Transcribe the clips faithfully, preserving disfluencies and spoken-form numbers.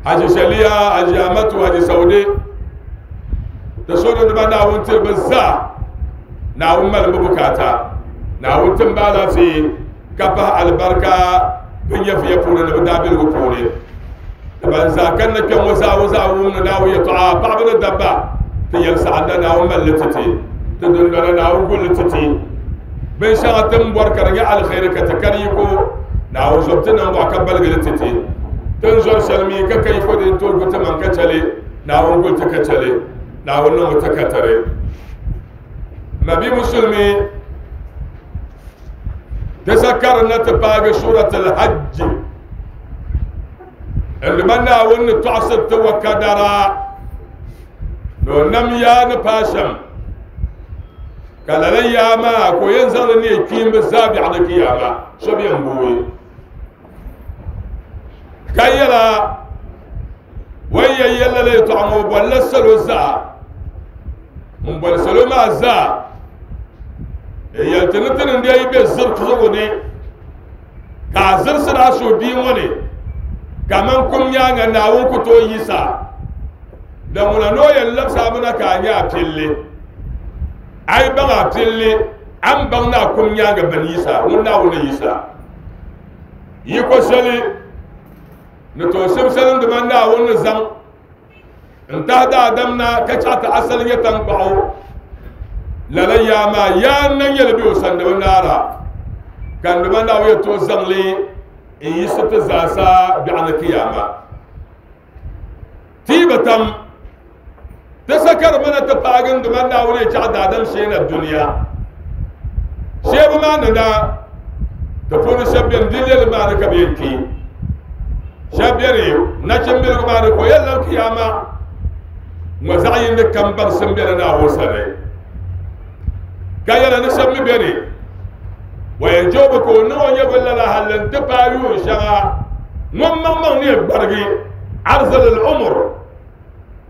Haji Shaliya Haji Amatu Haji Saudi da sauran da ba Naawuni tiri bɛ zaa Naawuni mali bɛ bukaata Naawuni tim ba alaafee ka pahi alibarika bɛ nyɛviya puuni ni bɛ daabiligu puuni da ban zaa kanna kpɛ ŋɔ zaa o zaa wum ni Naawuni yɛltɔɣa paɣaba ni dabba ti yɛli saɣanda Naawuni mali li ti ti ti dundona Naawuni guli li ti ti binshɛŋa ti ni bɔri ka di nyɛ aliheri ka ti kari yiko Naawuni zɔbu ti niŋ ka baligi li ti ti ti ni zɔri shɛli mi ka ka yiko din tooi gu ti maŋ ka chɛli Naawuni guli ti ka chɛli Naawuni niŋmi ti ka tari nabi musulmi ti sa karinna ti paagi suratul hajj indima Naawuni ni tɔɣisiri ti wa kadara ni o nam yaa ni paai shɛm ka lala yaa maa ka o yɛn zaŋli neei kpiimbi zaa biɛɣu ni kiyama so bi yɛn booi ka yɛla o ni yɛn yɛli lala yɛltɔɣa ŋɔ o bolila salo zaa n boli salo maa zaa n yɛli ti ni ti ni deei be zirisigu ni ka a zirisiri a suhu bia ŋɔ ni kaman kum nyaanga Naawuni ku tooi yisa da ŋuna ni o yɛn labisi a mina ka a nyɛ a pilli a yi baŋ a pilli a ni baŋ ni a kum nyaanga bini yisa ŋun Naawuni ni yisa yiko shɛli ni tooi shibisali dima Naawuni ni zaŋ n tahi daadam na ka chaɣ ti asali nyɛ tankpaɣu lala yaa maa yaa n na nyɛli bɛ o sani di bi naara ka n dima Naawuni yɛn tooi zaŋli n yiɣisi ti zaasa biɛɣu ni kiyama tiiba tam ti sa ka di mana ti paagi n dima Naawuni yɛn chaɣ daadam shee na duniya sheebu maa ni na ti puuni shɛba beni dileli maa ni ka bɛ yɛn kpi shɛba beni nachimbiligu maa ni ka o yɛn labi kiyama ŋɔ zaɣ yini kam baŋsim beni Naawuni sani ka yɛla ni shɛba mi beni wa yɛn joobi ka o niŋ o nyɛvili lala halli n-ti paai yuun shɛŋa ŋun maŋmaŋ ni yɛn gbarigi arzalil umur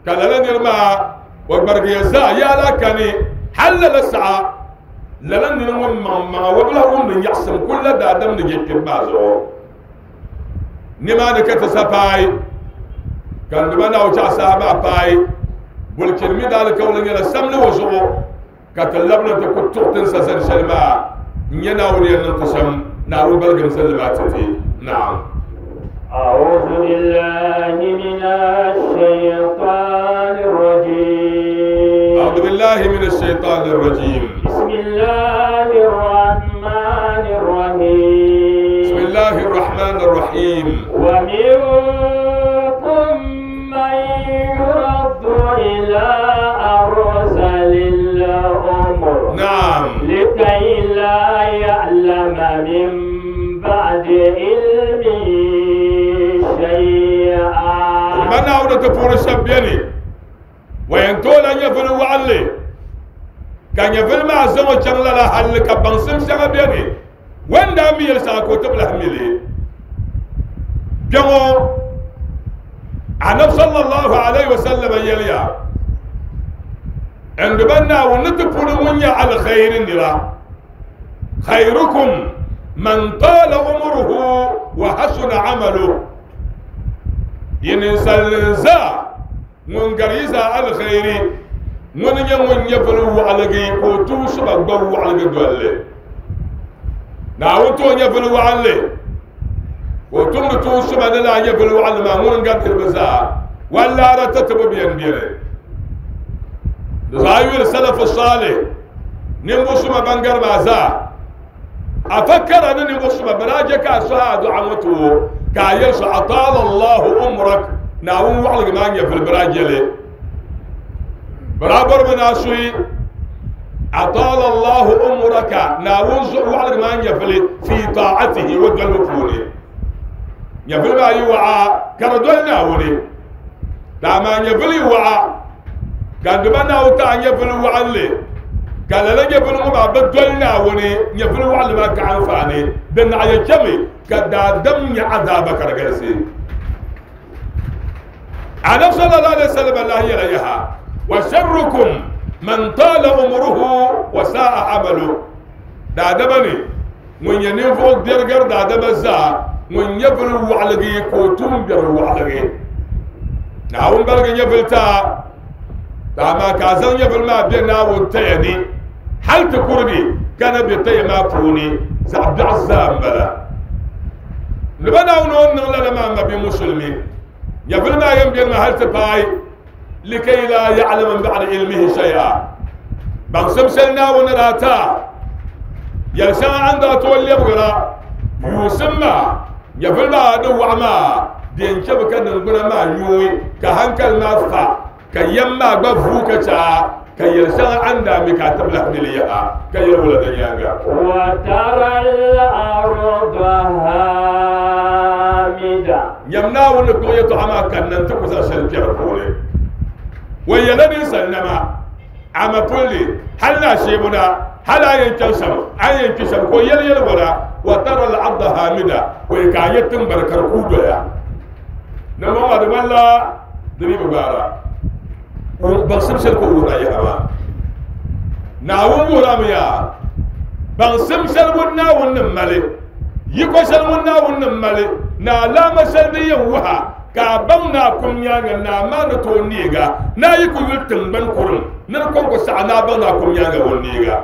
ka lala niri maa o gbarigiya zaa yaala kani hali lala saɣa lala niri ŋun maŋmaŋa o bi lahi wumdi nyaɣisim kuli la daadam ni je kpibu maa zuɣu nimaani ka ti sa paai ka n dima Naawuni chaɣ saha maa paai bulichini mi daalikauli nyɛla samli o zuɣu ka ti labina ti ku tuɣi ti ni sa zani shɛli maa n nyɛ Naawuni yɛn niŋ ti shɛm Naawuni baligim zalli maa ti ti naam. أعوذ بالله من الشيطان الرجيم. أعوذ بالله من الشيطان الرجيم. بسم الله الرحمن الرحيم. بسم الله الرحمن الرحيم. ومنكم من يرد إلى أرذل العمر نعم لكي لا يعلم من بعد علم شيئا. من أولى تفور الشبيني وينتول أن يفل وعلي كان يفل مع زمو شغلة لحل كبنسم شغبيني وين دامي يلساكو تبلح ملي جمو النبي صلى الله عليه وسلم يليا عند بنا ونتفور ونيا على خير نرى خيركم من طال عمره وحسن عمله ينسل ŋun gari yi zaa alkhairi ŋuni nyɛ ŋun nyɛvili waɣaligi ka o tuun suba gba waɣaligi dolli Naawuni tooi nyɛvili waɣanli ka o tumdi tuun suba ni laa nyɛvili waɣanli maa ŋuni n gari niriba zaa wallaara tatibu bɛn bɛni di zaa yuli salafu saalih ninvuɣu suma ban gari maa zaa a fa kara ni ninvuɣu suma bɛ daa je ka a sɔhi a duɣa ŋɔ ti o ka a yɛli so ataala allahu umrak Naawuni waɣaligi maa nyɛvili bɛ daa jɛli bɛ daa bɔrimi ni a suhi ataala allahu umraka Naawuni zuɣu waɣaligi maa nyɛvili fi taatihi o dolibu puuni nyɛvili maa yi waɣa ka di doli Naawuni dama nyɛvili yi waɣa ka n dima Naawuni taɣa nyɛvili waɣanli ka lala nyɛvili ŋɔ maa bi doli Naawuni nyɛvili waɣanli maa ka anfaani di naɣ ya chɛmi ka daadam nyɛ azaaba ka di galisi. النبي صلى الله عليه وسلم الله يليها وشركم من طال عمره وساء عمله دا دبني من ينفوق ديرجر دا دبزا من يبر وعلقي كوتم بر وعلقي Naawuni baligi nyɛvuli ti a amaa ka a zaŋ nyɛvuli maa be Naawuni taya ni hali ti kurigi ka na be taya maa puuni zaɣ biɛɣu zaa m-bala ni ba Naawuni o ni niŋ lala maa ma bi musulmi nyɛvuli maa yɛn beni maa hali ti paai likay laa ya'lama min ba'di ilmihi shay'a baŋsim shɛli Naawuni daa ti a yɛli shɛŋa a ni daa tooi lɛbigira yuusim maa nyɛvuli maa di waɣa maa di yɛn chɛmi ka niŋgbuna maa nyuui ka hankali maa fa ka yɛm maa gba vuu ka chɛ a ka yɛli shɛŋa a ni daa mi ka a ti bi lahi mi li yaha ka yɛli wula di nyaaŋa. وترى الأرض هامدة nyam Naawuni ni kpuɣi yɛltɔɣa maa kanna n-ti ku zaŋ shɛli kpɛ di puuni o yɛla ninsalinima ama pulli hali ni a sheebu na hali a yɛn chaŋ shɛm a yɛn kpi shɛm ka o yɛli yɛli wala wa tara al-arda hamida o yɛ ka a nyɛ tiŋgbani ka di kuui doya ni ŋɔ maa di ŋmanila di mi bi gbaara baŋsim shɛli ka o wuhira yaha maa Naawuni wuhirami yaa baŋsim shɛli ŋun Naawuni ni mali yiko shɛli ŋun Naawuni ni mali ni alaama shɛli din yɛn wuha ka a baŋ ni a kum nyaaŋa ni a maa ni tooi neega ni a yi ku yuli tiŋgbani kurim ni di kɔŋko saɣa ni a baŋ ni a kum nyaaŋa o neega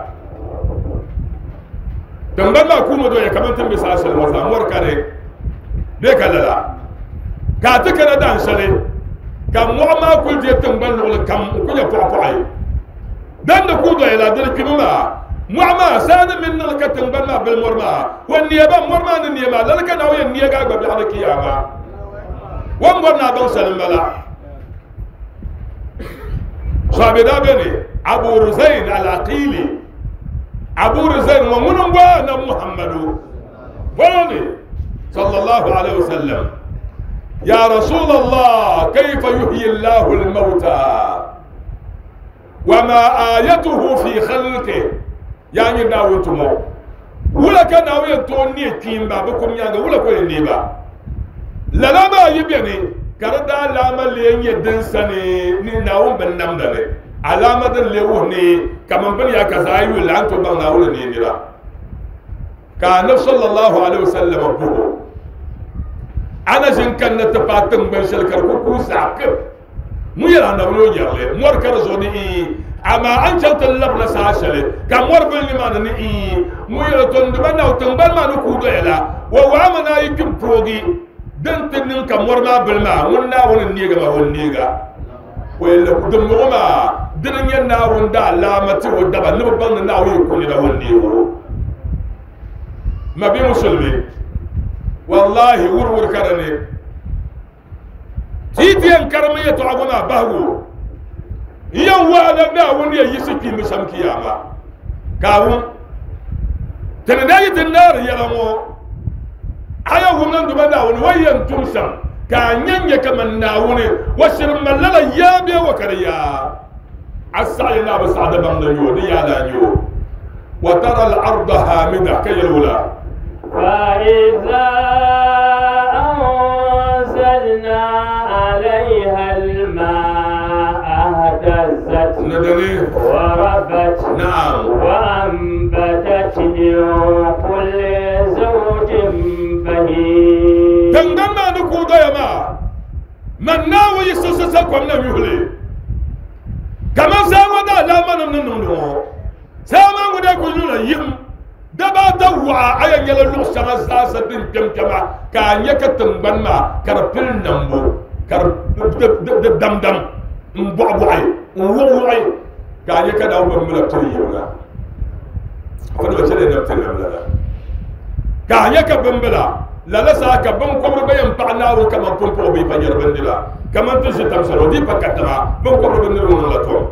tiŋgbani maa kuumi doya kamani tin be saha shɛli ŋɔ zaa mɔri ka di bee ka lala ka a ti kana daan shɛli ka mɔɣu maa kuli deei tiŋgbani luɣuli kam n ku nyɛ pɔɣipɔɣi dan ni kuui doya la dini kpimi maa mɔɣu maa saa ni mini niŋli ka tiŋgbani maa bili mɔri maa o neeba mɔri maa ni nee maa lala ka Naawuni yɛn neegi a gba biɛɣu ni kiyama o ni bɔri ni a baŋ shɛli m-bala sahabi daa beni Abu Ruzain al-Aqili Abu Ruzain ŋɔ ŋuni n-gba na Muhammadu bɔni sallallahu alaihi wasallam ya Rasulallah kayfa yuhyi Allahu al-mawta wa ma ayatuhu fi khalqihi yaa nyini Naawuni tumo wula ka Naawuni yɛn tooi neei kpiimba bɛ kum nyaaŋa wula ka o yɛn neei ba lala maa yi beni ka di daa alaama lee nyɛ din sani ni Naawuni bin namda ni alaama din lee wuhi ni kaman bini yaa ka zaa yuli la a ni tooi baŋ Naawuni ni nira ka anabi sallallahu alaihi wasallam buhu ana ʒin kanna ti paai tiŋgbani shɛli ka di ku kuui zaɣ kib ŋun yɛli anabi ni o nyɛrili mɔri ka di zuɣu ni ii amaa a ni chaŋ ti labina saha shɛli ka mɔri bili nimaani ni ii ŋun yɛli to n dima naw tiŋgbani maa ni kuui doya la o waami ni a yi kpi poogi din ti niŋ ka mɔri maa bili maa ŋun Naawuni n neega maa o neega o yɛli dimbɔŋɔ maa dini n nyɛ Naawuni daa alaama ti o daba ni bi baŋ ni Naawuni yi ku nira o neego ma bi musulmi wallahi wuriwuri ka di ni ti ti yɛn karimi yɛltɔɣa ŋɔ maa bahigu n yɛn waana Naawuni yɛn yiɣisi kpiimbi shɛm kiyama ka a wum ti ni daa yi ti naari yɛla ŋɔ a yɛn wum ni duma Naawuni o yɛn tum shɛm ka a nyɛ nyɛ kaman Naawuni o shiri mali lala yaa bee o ka di yaa a saɣi ni a bi saɣi di baŋ di nyɛ o di yaa la nyɛ o wa tara al-arda hamida ka yɛli wula فإذا أنزلنا عليها الماء اهتزت ندني وربت نعم وأنبتت من كل زوج بهيج tiŋgbani maa ni kuui doya maa man Naawuni yi siɣisi sa kom na yuhili kaman saa ŋɔ daa alaama nim ni niŋdi ŋɔ saa maa ŋɔ daa kuli niŋla yim daba ata waɣa a yɛn nyɛla luɣu shɛŋa zaasa din kpɛm kpɛma ka a nyɛ ka tiŋgbani maa ka di pili nambu ka di di damdam n bɔɣibɔɣi n wuɣiwuɣi ka a nyɛ ka Naawuni bin bila pili yimna fo ni ba chɛli nam ti nam lala ka a nyɛ ka bimbila lala saa ka binkɔbiri gba yɛn paɣi Naawuni kaman pumpɔɣu bɛ pa nyɛri bindira kaman ti ʒi tam shɛli o dii pa katiŋa binkɔbiri bindirigu niŋla tom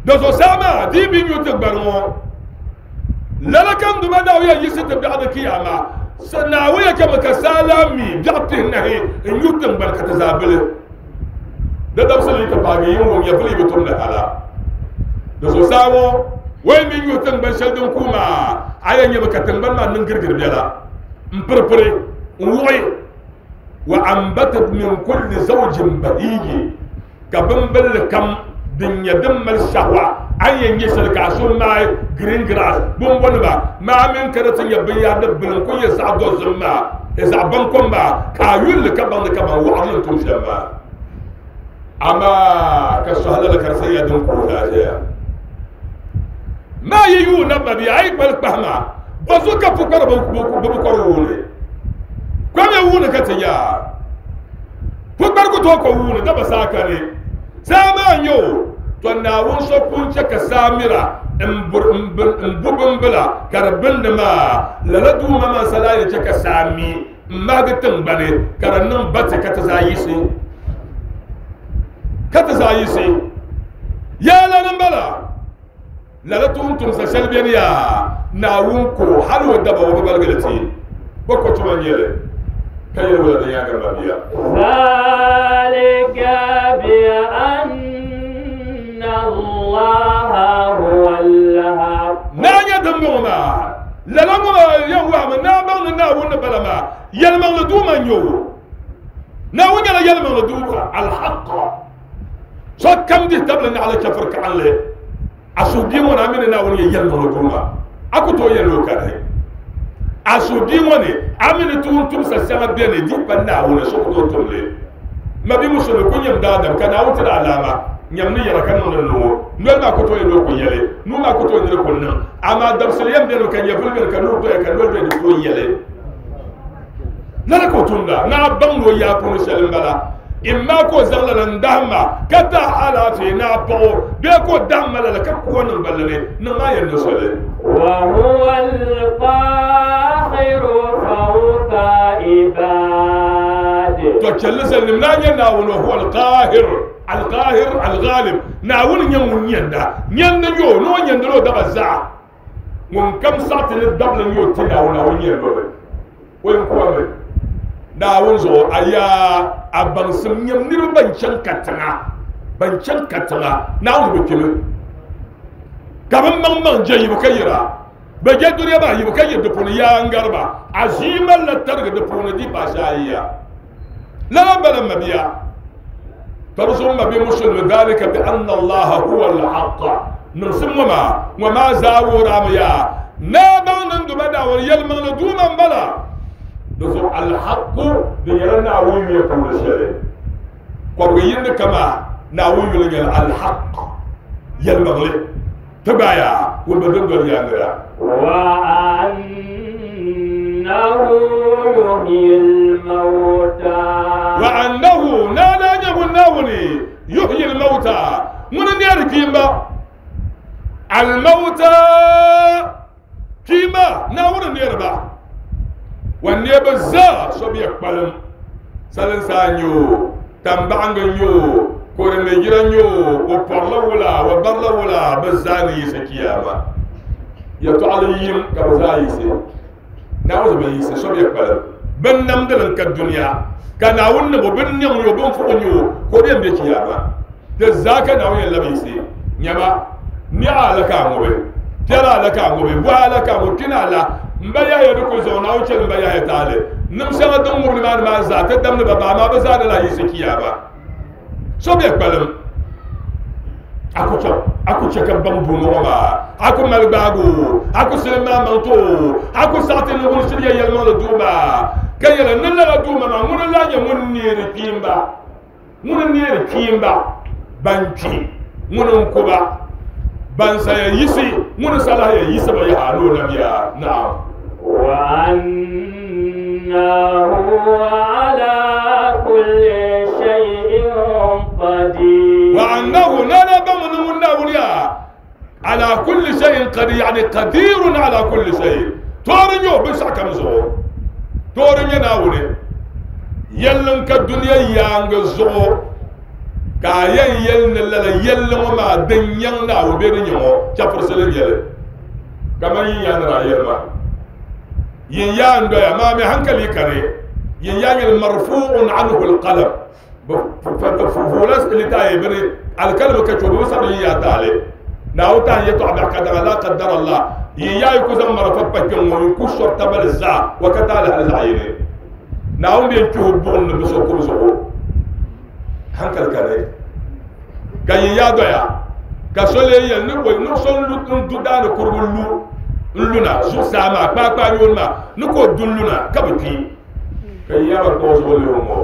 do so saa maa dii bi nyu ti gbani ŋɔ lala kam duma Naawuni yɛn yiɣisi ti biɛɣu di kiyama Naawuni yɛn chɛmi ka saa laa mi biɛɣu pihinahi n nyu tiŋgbani ka ti zaa bili di dabisili yi ti paagi yin wum nyɛvuli yi bi tumdi hala di so saa ŋɔ o yi mi nyu tiŋgbani shɛli din kuui maa a yɛn nyɛmi ka tiŋgbani maa niŋ girigiri biɛla n piripiri n wuɣi wa ambatat min kulli zawjin bahiji ka bimbilli kam din nyɛ din mali shahwa a yɛn nyɛ shɛli ka a so maai green grass bimbɔniba maa mini ka di ti nyɛ binyahari di bili n ku nyɛ zaɣ dozim maa zaɣ bankom maa ka a yulli ka baŋdi kaman waɣarili n tum shɛm maa Amaa ka sɔhila la ka di ya din ku zaa ʒɛya maa yi yuuna ma bia a yi kpali kpahama bɔzu ka pukpara bi bi kɔri wuuni kom ya wuuni ka ti nya pukpari ku tooi ko wuuni daba saa kani saa maa n nyɛ o to Naawuni so pun chɛ ka saa mira n bu bimbila ka di bindi maa lala duuma maa salaa yɛn chɛ ka saa mi n mahagi tiŋgbani ka di niŋ bati ka ti zaa yiɣisi ka ti zaa yiɣisi yaa lani n bala lala tuun tumsa shɛli bɛni yaa Naawuni ko hali o daba o bi baligili ti bɔ ko tuma n nyɛli ka yɛli wala di nyaanga ma bia ذلك بأن الله هو الحق naa nyɛ din bɔŋɔ maa lala ŋɔ maa yɛn waɣami naa baŋ ni Naawuni ni bala maa yɛlimaŋli duuma n nyɛ o Naawuni nyɛla yɛlimaŋli duuma alhaq sokam dihi tabili naɣala chɛfiri kaɣanli a suhubia ŋɔ ni a mi ni Naawuni nyɛ yɛlimaŋli duuma a ku tooi yɛli o kani a suhubia ŋɔ ni a mi ni tuun tumsa shɛŋa bɛni di pa Naawuni so ku tooi tumli ma bi musulmi ku nyɛm daadam ka Naawuni tiri alaama nyɛm ni yɛra ka niŋdi nuŋɔ noli maa ku tooi yɛli o ku yɛli nuu maa ku tooi niri ku niŋ amaa dabisili yɛn bɛni ka nyɛvuli bɛni ka nuu doya ka noli doya di tooi yɛli lala ka o tumda naa baŋ ni o yaa puuni shɛli n bala imma ka o zaŋ lala n dahimma ka daa alaafee ni a paɣa o bee ka o dahimma lala ka kuwa niŋ balli ni niŋ maa yɛn ni soli وهو القاهر فوق عباده to chɛlli sali naa nyɛ Naawuni huwa alqahir alqahir alghalib Naawuni nyɛ ŋun nyɛnda nyɛndi nyɛ o ni o nyɛndila o daba zaa ŋun kam saɣati ni dabili nyɛ o ti Naawuni Naawuni nyɛndomi o yɛn kuwa mi Naawuni zuɣu a yaa a baŋsim nyɛm niriba ban chaŋ katiŋa ban chaŋ katiŋa Naawuni bi kpimi ka bi maŋ maŋ je yibu ka yira bɛ je duniya maa yibu ka yiri di puuni yaa n gariba a ʒii malila tarigi di puuni di paasi ayi ya lala bala mabia tɔri mabi musulmi dhalika bi anna Allaha huwa al-haqq niŋsim ŋɔ maa ŋɔ maa zaa wuhirami yaa naa baŋ ni n duma Naawuni yɛlimaŋli duuma n bala di zuɣu alhaqu di nyɛla Naawuni yuya puuni shɛli kɔbigi yindi kama Naawuni yuli nyɛla alhaq yɛlimaŋli ti gbaaya ŋun bi dindoli yaangira وأنه يحيي الموتى وأنه نانا nyɛ Naawuni yuhyi al-mawta ŋuni neeri kpiimba al-mawta kpiimba Naawuni neeri ba wa neebu zaa so bi kpalim salinsaa n nyɛ o tambaɣangi n nyɛ o korimejira n nyɛ o o pɔrila wula o barila wula bi zaa ni yiɣisi kiyama yɛltɔɣali yim ka bi zaa yiɣisi Naawuni bi yiɣisi so bi kpalim bin namdili n ka duniya ka Naawuni ni bo bin niŋ nyɛ o bin fuɣi nyɛ o ka o bɛn bɛ kiyama di zaa ka Naawuni yɛn labi yiɣisi nyɛma niɣa ala ka a ŋubi piɛla ala ka a ŋubi buhi ala ka a ŋubi kpina ala n ba yahaya di ku zaŋ Naawuni chɛli n ba yahaya taali nim shɛŋa din ŋubili maa ni maa zaa ti damdi ba baa maa bi zaa ni lahi yiɣisi kiyama so bɛ kpalim a ku chɛ a ku chɛ ka baŋ duuni ŋɔ maa a ku mali gbaagu a ku silim maa maŋ to a ku saɣati ni ŋun shiri yɛ yɛlimaŋli duuma ka yɛli ni lala duuma maa ŋuni n lahi nyɛ ŋun neeri kpiimba ŋuni n neeri kpiimba ban kpi ŋuni n kuba ban saya yiɣisi ŋuni sa lahi yɛn yiɣisi ba yaha ni o nam yaa naam وأنه على كل شيء قدير وأنه لا بمن من على كل شيء قدير يعني قدير على كل شيء تورنيو بس كم زو تورنيو ناوني يلن كالدنيا يانغ زو كاين يلن لا يلن ما دنيا ناو بينيو شافر سلين يل كما يان رايما yin yaan doya maa mi hankali kare yin yaa nyɛla marfuun anhu alqalam fuula litaaye bini alkalama ka cho bi sabi yin yaa taali Naawuni taan yɛltɔɣa biɛɣu ka daŋa la qaddara Allah yin yaa yi ku zaŋ marafa pa kpɛŋ ŋɔ yi ku sɔri tabali zaa wa ka taali hali zaɣ yini Naawuni bɛn kpihi buɣum ni bi so kubu zuɣu hankali kare ka yin yaa doya ka so lee yɛli ni bɔ ni so n du daani kurigu lu n luna zuɣusaa maa kpaakpaa yooni maa ni ka o du n luna ka bi kpi ka yin yaa ba kpaɣi zuɣu lihi ŋɔ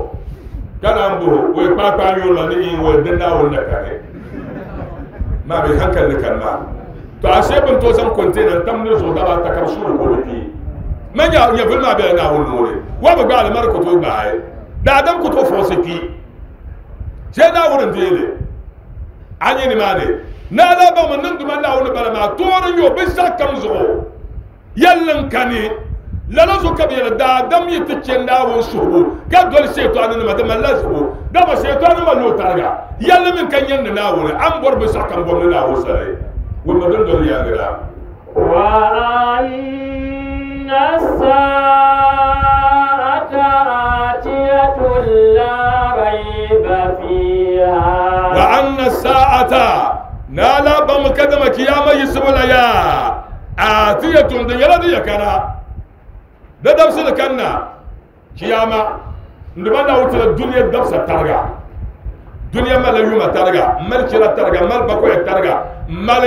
Kana mbo we kpakpa yola ni in we dinna wonna kare ma be hankali kan ma to ashe bin to san container tam ne zo da ba ta kar shuru ko bi manya nya vilma be na wonno wa ba ga mar ko to bae da adam ko to fo se ki je na worin dele anyi ni mane na la ba mun nan duma na woni bara ma to ran yo bi sa kam zo yallan kane la la zo ka bi da adam yi tice na won suhu ka dole shaytan ni ma da mallazu da ba shaytan ma lo targa yalla min kan yanna na woni an bor bi sa kam bor na wo sare won ma don don ya gira wa anna sa'ata atiyatun la rayba fiha wa anna sa'ata nala bam kadama kiyama yisbula ya atiyatun da yala da kana da dabsa da kanna kiyama nduma na wuta duniya dabsa targa duniya mala yuma targa mal kira targa mal bakoy targa mal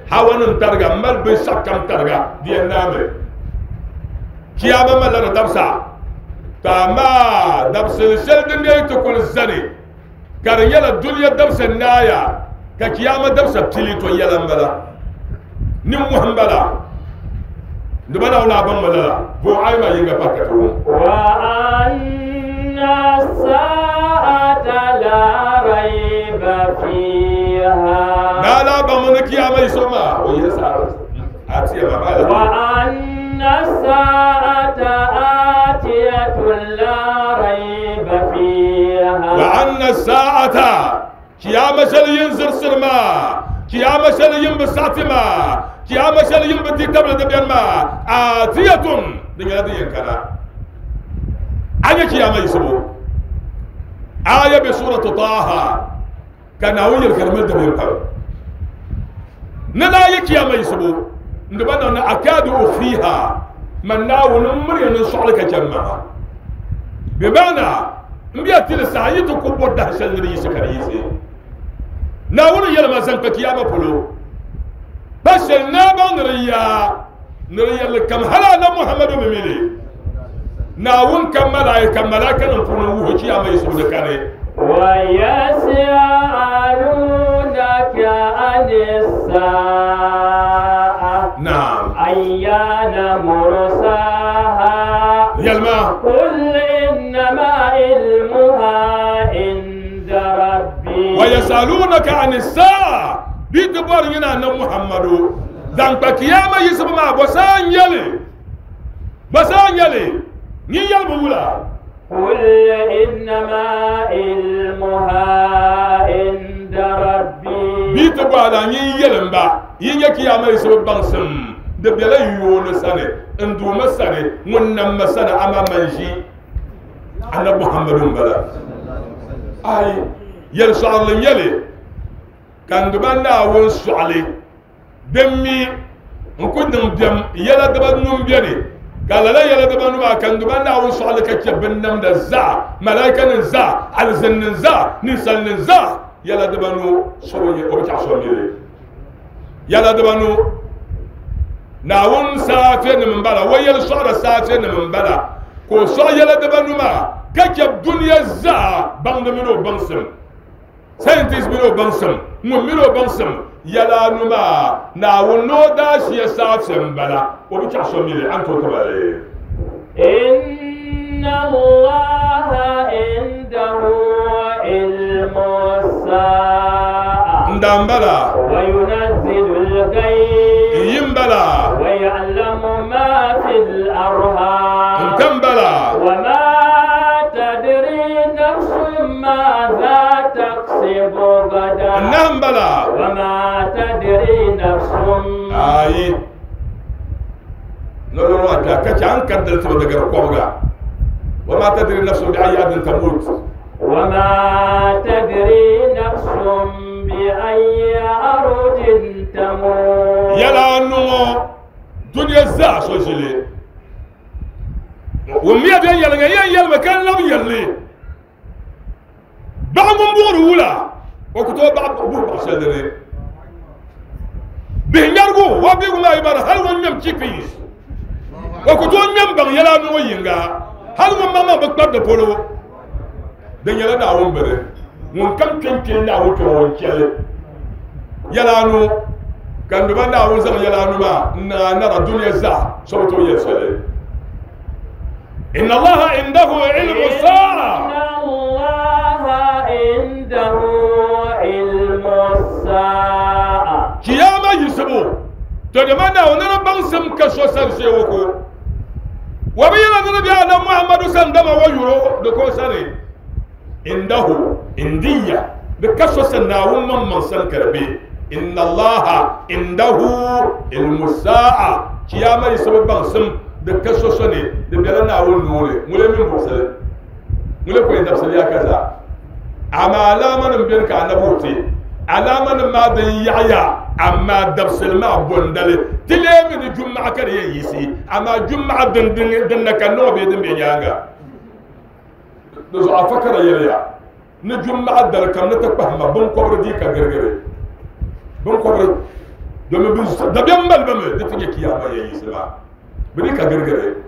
hawanun targa mal bi sakam targa diya name kiyama mala da dabsa tama dabsa shel duniya to kul zani kar yala duniya dabsa naya ka kiyama dabsa tili to yala mbala nim muhambala nduma na wala ban malala bo ay ma yinga pakka to wa anna sa'ata la rayba fiha la ba mun kiyama isoma o yesa atiya ma bala wa anna sa'ata atiyatun la rayba fiha wa anna sa'ata kiyama shal yinzir sirma kiyama shal yin bisatima kiyama shal yin bi tabla da biyan ma atiyatun dinga da yankana anya kiyama isubo aya bi suratu taha kana wuyar kalmar da biyan fa nana ya kiyama isubo ndaba na akadu ufiha man nawun muryan su'alaka jama'a bi ma'ana mbiya tilsa yitu kubbo da shal ni yisikari nawun yalma zan ka kiyama polo bashal na ban riya nriya kam hala na muhammadu mimili nawun kam malaika malaika nan puno wuho kiyama yisu da kare wa yas'alunaka anis sa'a na'am ayyana mursaha yalma qul innama ilmuha inda rabbi wa yasalunaka anis sa'a bidbar yana nan muhammadu dan pa kiyama yisu ma bosan yale bosan yale ni yalbu wula qul innama ilmuha inda rabbi bidbar la ni yelamba yin ya kiyama yisu bangsim de bela yone sane nduma sane wonnan masana ama manji annabi muhammadun bala ay yel sa'al yele kan duba na won su'ale demmi nkudum dem yela daba num biani kala la yela daba num kan duba na won su'ale ka kebin nam da za malaikan za alzan za nisan za yela daba nu soroye o ta so mire yela daba nu na won safe ni mbala wayel su'ala safe ni mbala ko so yela daba numa ka keb duniya za bang de mino bangsem scientist mino bangsem mo mino bangsem yala numa na wono da shi ya safe mbala o bi ta so mire an to tabare inna allaha indahu ilmu sa'a ndambala wa yunazzilu al-ghayth yimbala wa ya'lamu ma fil arham ntambala wa ma tadri nafsun madha taksibu ghadan nambala wa ma tadri nafsun ayi lolo wata kace an kaddar ta daga kwabga wa ma tadri nafsun bi ayyi ardin tamut wa ma tadri nafsun bi ayyi ardin tamut yala numo duniya za so jile wa miya den yalga yan yalma kan lam yalli ba mun buru wula o ko to ba bu ba shadere bi nyargu wa bi guma ibara hal won nyam chipis o ko to nyam bang yala numo yinga hal won mama ba kpab da polo Din nyɛla Naawuni bini ŋun kam kpenkpeni Naawuni kpɛma ŋun chɛli yɛla anu ka n duba Naawuni zaŋ yɛla anu maa n niŋ a nara dunia zaa so bi tooi yɛli shɛli. Inna Allaha indahu ilmu saa. Inna Allaha indahu ilmu saa. Kiyama yisibu to dama Naawuni ni baŋsim ka so sani shee ko wa bi yɛla ni bi Adam Muhammadu san dama wa yuro di ko sani indahu indiya di ka so sani Naawuni maŋmaŋ sani ka di be. Inna Allaha indahu ilmu saa. Kiyama yisibu baŋsim di ka so sani di bela Naawuni nuuni ŋule min buɣisili ŋule ko dabisili ya ka zaa. Amaa alaama nim beni ka anabi wuti alaama nim maa din yaɣaya amma dabisili maa bondali ti leemi ni jumaɣa ka di yɛn yiɣisi amaa jumaɣa din din na ka niŋ bee din be nyaanga di zuɣu afa ka di yɛliya ni jumaɣa dali kam ni ti kpahima binkɔbiri dii ka girigiri binkɔbiri domin dabiɛm mali ba mi di ti nyɛ kiyama yɛn yiɣisi maa bi dii ka girigiri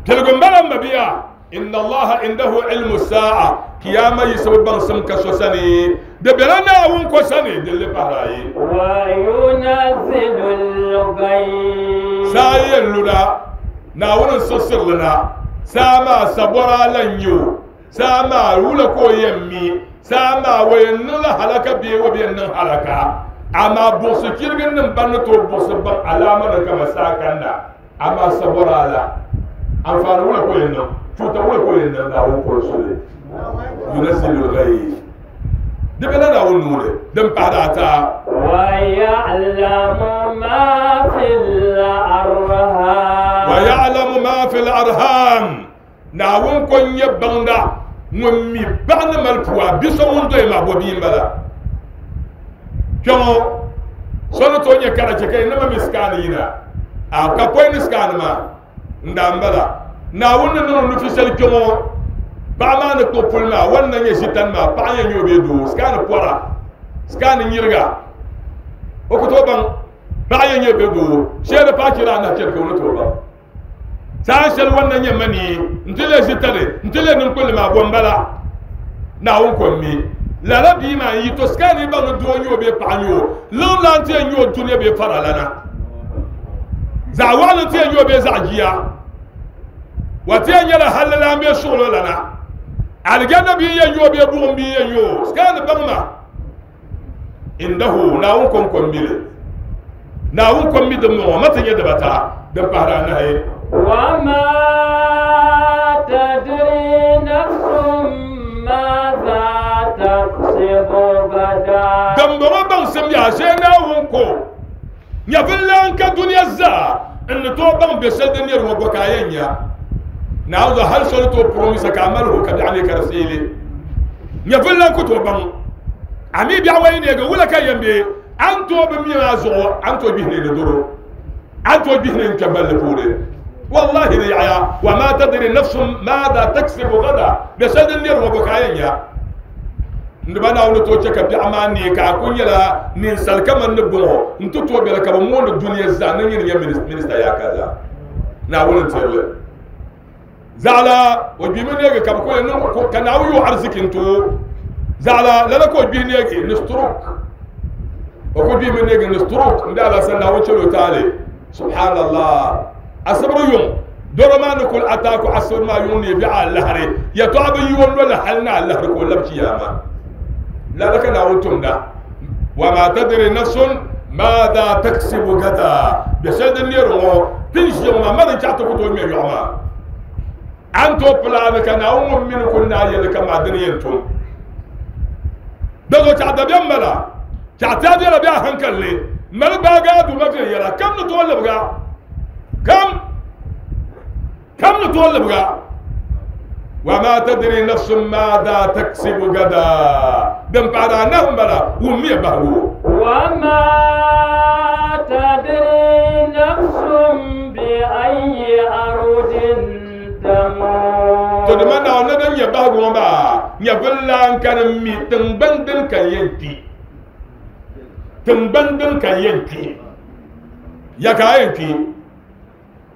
piligu m bala m mabiya. Inna Allaha indahu ilmu saa. Kiyama yisibu baŋsim ka so sani di bela Naawuni ko sani din li pahiri ayi. Wa yunazzilu l-ghayth. Saa yɛn luna Naawuni n siɣisiri li na saa maa sabɔra lan nyɛ o saa maa wula ka o yɛn mi saa maa o yɛn niŋla halaka bee o bi yɛn niŋ halaka amaa buɣisi chirigi nim ban ni tooi buɣisi baŋ alaama nim kama saa kanna amaa sabɔra la anfaani wula ka o yɛn niŋ cuta wula ka o yɛn niŋ Naawuni polo soli. Yunazzilu l-ghayth di bela Naawuni nuuni din pahiri ata. Wa ya'lamu ma fil arham. Wa ya'lamu ma fil arham. Naawuni ko n-nyɛ baŋda ŋun mi paɣa ni mali pua bi so ŋun doyi maa bɔ bia m-bala kpɛŋɔ so ni tooi nyɛ karachi ka yi nima mi sikaani yina a ka pɔi ni sikaani maa n daa m bala Naawuni ni niŋ nufi shɛli kpɛŋɔ paɣa maa ni kpuɣi puli maa wan na nyɛ ʒitani maa paɣa yɛn nyɛ o bee doo sikaani pɔra sikaani nyiriga o ku tooi baŋ paɣa yɛn nyɛ bee doo shee di paɣa chɛri anahi chɛri ka o ni tooi baŋ saa shɛli wan na nyɛ mani n ti lee ʒitani n ti lee ninkpulli maa bɔ n bala Naawuni ko n mi lala bia maa n yi to sikaani baŋ ni doo nyɛ o bee paɣa nyɛ o liŋ lan ti yɛn nyɛ o dunia bee fara lana zaɣ waɣali ti yɛn nyɛ o bee zaɣ jia wa ti yɛn nyɛla halli lan bee suɣulo lana alijanna bia yɛn nyɛ o bee buɣum bia yɛn nyɛ o sikaani baŋ ma indahu Naawuni ko n ko n mili Naawuni ko n mi din bɔŋɔ ma ti nyɛ dibata din pahiri anahi. Wa ma tadri nafsun maadha taksibu ghadan. Din bɔŋɔ baŋsim yaa shee Naawuni ko nyɛvili lan ka dunia zaa n ni tooi baŋ bɛ shɛli din niri ŋɔ bɔ ka a yɛn nya Naawuni zuɣu hali so ni tooi promisa ka a mali ho ka biɛɣu ni ka di seeli nyɛvili lan ku tooi baŋ a mi biɛɣu wa yi neegi wula ka yɛn be a ni tooi bi mi maa zuɣu a ni tooi gbihini ni doro a ni tooi gbihini n kpɛ balli puuni wallahi di yaɣaya wa ma tadri nafsun maada taksibu gada bɛ shɛli din niri ŋɔ bɔ ka a yɛn nya n diba Naawuni tooi chɛ ka biɛɣu maa nee ka a ku nyɛla ninsal kaman ni bɔŋɔ n ti tooi bela ka bi mooni dunia zaa ni nyini nyɛ minista yaa ka zaa Naawuni n tirili zaɣala o gbimi neegi ka bi ku niŋ ka Naawuni yo ariziki n too zaɣala lala ka o gbihi neegi ni stroke o ku gbimi neegi ni stroke n daa la san Naawuni chɛl o taali subhanallah asibiri yuŋ doro maa ni kuli ataaku asibiri maa yuŋ ne biɛɣu alahari yɛltɔɣa bi yi o noli hali ni alahari ka o labi chiyaama lala ka Naawuni tumda wa ma tadri nafsun maada taksibu gada bɛ shɛli din neeri ŋɔ tin ʒiya ŋɔ maa ma din chaɣ ti ku tooi ŋmɛ yɔɣu maa a ni tooi pilaani ka Naawuni ŋun mini ku naa yɛli ka maa dini yɛn tum di zuɣu chaɣ dabiɛm bala chaɣ ti a viɛla bɛ a hankali ni mali gbaagi a duuma viɛnyɛla kam ni tooi libiga kam kam ni tooi libiga wa ma tadri nafsun maada taksibu gada din pahiri anahi m bala wummiya bahigu. Wa ma tadri nafsun bi ayyi ardin tamut. To di ma Naawuni din nyɛ bahigu ŋɔ maa nyɛvili lan ka di mi tiŋgbani din ka yɛn kpi tiŋgbani din ka yɛn kpi ya ka a yɛn kpi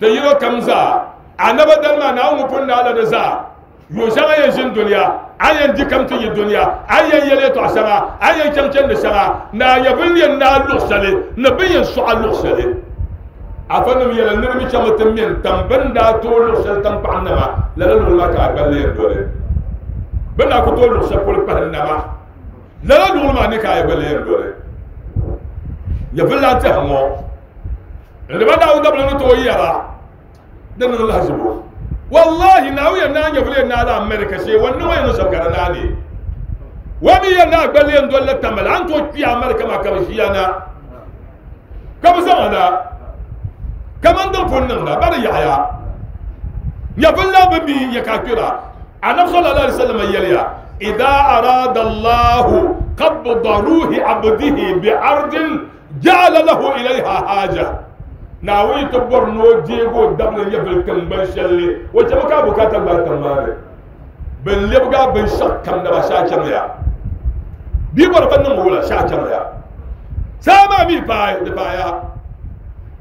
ti yino kam zaa anaba dali maa Naawuni ŋun pun naala di zaa yuun shɛŋa yɛn ʒini dunia a yɛn di kam ti yi duniya a yɛn yɛlɛ tɔɣa shɛŋa a yɛn chaŋ chandi shɛŋa naa nyɛvili yɛn naa luɣu shɛli ni bin yɛn sɔɣa luɣu shɛli afa nim yɛla niriba chaŋ ti mɛ n-tam bin daa tooi luɣu shɛli tankpaɣu nama lala luɣuli maa ka a gballi yɛn doli bin daa ku tooi luɣu shɛli polo kpahi nama lala luɣuli maa ni ka a gballi yɛn doli nyɛvili lan tɛha ŋɔ n-diba Naawuni dabili ni tooi yɛra di niŋ lahizibu wallahi Naawuni yɛn naa nyɛvili yɛn naa la America shee wa niŋ yɛn shɛm ka di naa ni wa mi yɛn naa gballi yɛn doli la tamali a ni tooi kpi America maa ka bi ʒiya na ka bi zaŋ na kaman din pun niŋda ba di yaɣaya nyɛvili lan bi mi ya ka kpira anabi sallallahu alaihi wasallam yɛliya idha arada Allahu qabda ruhi abdihi bi ardin ja'ala lahu ilayha haja Naawuni ti bɔri ni o deegi o dabili nyɛvili tiŋgbani shɛli o chɛmi ka a bukaata gbaai tiŋ maa ni bin lebigi a binshɛɣu kam naba shɛhi chaŋya bia bɔri ka niŋ wula shɛhi chaŋya saa maa mi paai di paaya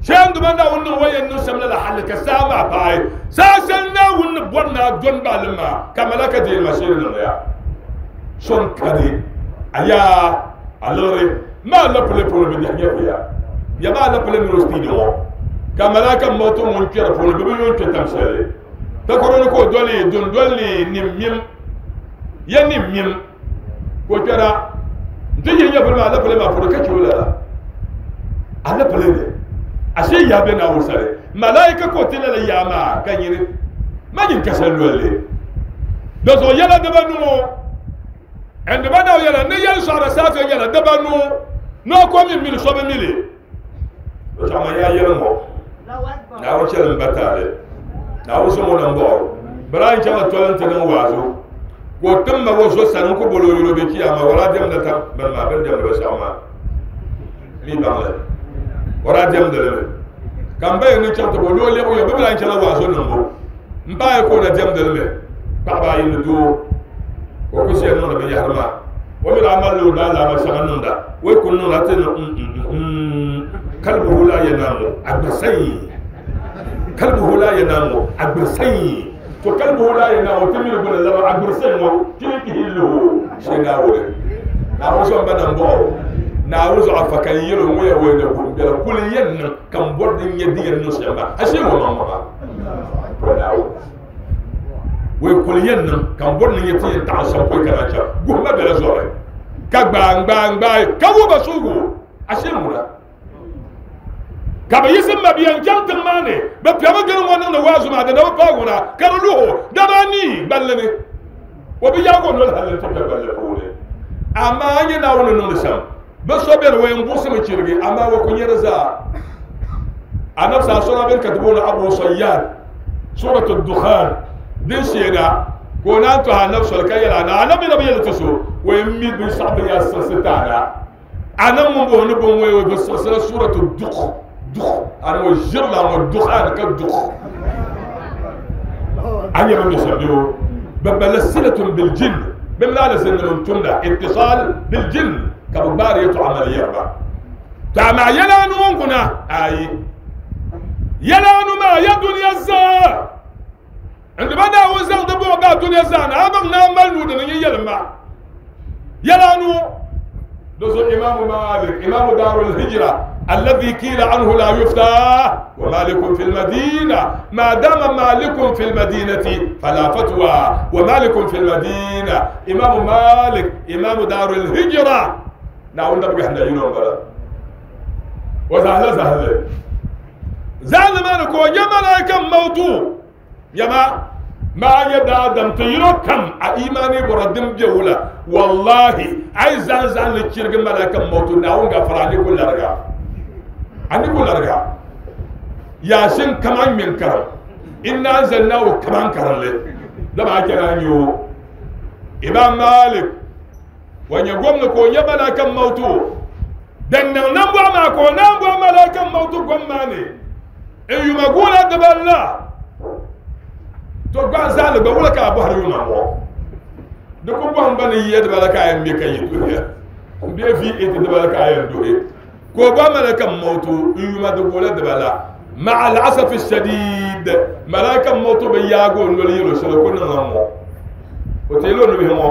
shɛŋ duma Naawuni niŋ wa yɛn niŋ shɛm lala hali ka saa maa paai saa shɛli Naawuni ni bɔri ni a dɔni baalim maa ka malaka deeri ma sheeri niŋya so n kani a yaa a liɣiri maa lapili puuni bi dihi nyɛvuya ya maa lapili mini o speed ŋɔ ka malaka moto ŋun kpɛri puuni bi bi yoon kpɛ tam shɛli takoro ni ka o doli dundoli nim mim ya nim mim ka o kpɛra n ti yihi nyɛvuli maa alapile maa puuni ka chɛ o lala alapile ni ashe yaa bɛ Naawuni sani malaika ka o ti lala yaa maa ka nyini ma nyin ka shɛli lolli di zuɣu yɛla dibanu n diba naaw yɛla ni yɛli sɔɣira saafe yɛla dibanu ni o ko mi mili so bi mili o chaŋ ma yaa yɛli ŋɔ Naawuni chɛli n ba taali Naawuni sɔŋ o nambɔɣu Ibrahim chaŋ toli n ti niŋ waazu ka o tim ma o zo sani n ku boli o yuli o be kiyama o daa diɛmdi tam bini maa bini diɛmdi binshaɣu maa mi baŋli o daa diɛmdi li mi ka n ba yɛn ni chaŋ ti bo ni o lɛbi o bi bi lahi chɛla waazu niŋbu n paai ka o na diɛmdi li mi paɣaba ayi ni doo ka o ku ʒiya niŋdi binyahari maa o mi daa malila o daa laama shɛŋa niŋda o yi ku niŋda ti ni kalbuhu la yanamu agbasayi kalbuhu la yanamu agbasayi to kalbuhu la yanamu ti miri gbuni laba agbasayi ŋɔ kili kihilluhu shee Naawuni Naawuni sɔŋ ba nambɔɣu Naawuni zuɣu afa ka n yɛli o ŋɔ yɛ wɛi na gurum biɛla kuli yɛn niŋ ka n bɔri din nyɛ di yɛn niŋ shɛm maa ashee ŋɔ maŋ maŋa to Naawuni wai kuli yɛn niŋ ka n bɔri ni nyɛ ti yɛn taɣi shɛm pɔi kana chɛm guhuma bɛla zɔri ka gbaai gbaai gbaai ka wuhi ba suugu ashee ŋuna ka bi yiɣisi ma bia n chaŋ tiŋ maa ni bi piɛmi gili ŋɔ niŋdi waazu maa di na bi paai ŋuna ka di luhi dama nii gballi ni o bi yaagi o noli hali n ti kpɛ gballi puuni amaa a nyɛ Naawuni ni niŋdi shɛm bi so bɛni o yɛn buɣisimi chirigi amaa o ku nyɛ di zaa anabi saa sɔra bɛni ka ti booni Abu Sayyad suratu Dukhan din sheena ka o naan tɔhi anabi soli ka yɛli ana anabi na bi yɛli ti so o yɛn mi binshaɣu din yaa siɣisi ti ana ana ŋun booni ni bin ŋɔ bi siɣisila suratu Dukh duk ana ŋɔ ʒirila ŋɔ dukhan ka duk a nyɛ bi mi shɛm bɛ o bi bala silatun bil jinn bi mi laala zinnim n tumda ittisal bil jinn ka bi gbaari yɛltɔɣa mali yɛriba to amaa yɛla anu ŋɔ kuna ayi yɛla anu maa ya duniya zaa n diba Naawuni zaŋ di buɣu baai duniya zaa na a baŋ ni a mali nuu dini nyɛ yɛlim ma yɛla anu di zuɣu Imaamu Malik Imaamu Daarul Hijra الذي قيل عنه لا يفتى ومالك في المدينة ما دام مالك في المدينة فلا فتوى ومالك في المدينة إمام مالك إمام دار الهجرة نعم نبقى احنا ينوم بلا وزهل زهل زهل ما نكو يا ملائكة موضوع يا ما ما يدا دم تيرو كم إيماني بردم جولا والله أي زان زان لتشرق ملائكة موضوع نعم غفراني كل رجع ani ko larga yasin kaman min karam inna anzalnahu kaman karam le da ba kira yo Imam Malik wanya gwamna ko ya malakan mautu dan nan nan ba ma ko nan ba malakan mautu gwamma ne in yumagula da balla to gba zal ba wala ka bu har yuma mo da ko bon ban yi da balaka ayan be kan yi duniya be fi ita da balaka ayan dole ko ba malakan mautu in yuma da gola da bala مع الاسف الشديد ملائكه موتو بياغو نولي يلو شلو كن نمو O teelo nubihi ŋɔ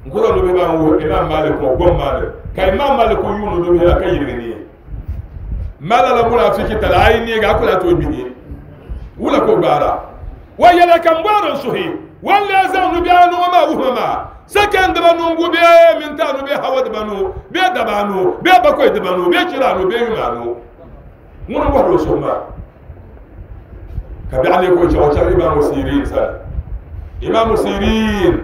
n ku zaŋ nubihi maa n wuhi Imam Malik ŋɔ gom maa ni ka Imam Malik yuuni nubihi la ka yirigi ni mala la munafiki tala a yi neegi a ku lahi tooi gbihi wula ka o gbaara wa yɛla ka n bɔri n suhi wan lee zaŋ nubihi anu ŋɔ maa wuhima maa sekan dibanu n gu bee minti anu bee hawa dibanu bee daba anu bee bakoyi dibanu bee chira anu bee yuma anu ŋuni n bɔhiri o suhu maa ka biɛɣu ne ka o chaŋ o chaŋ Imaamu Sirin sani Imaamu Sirin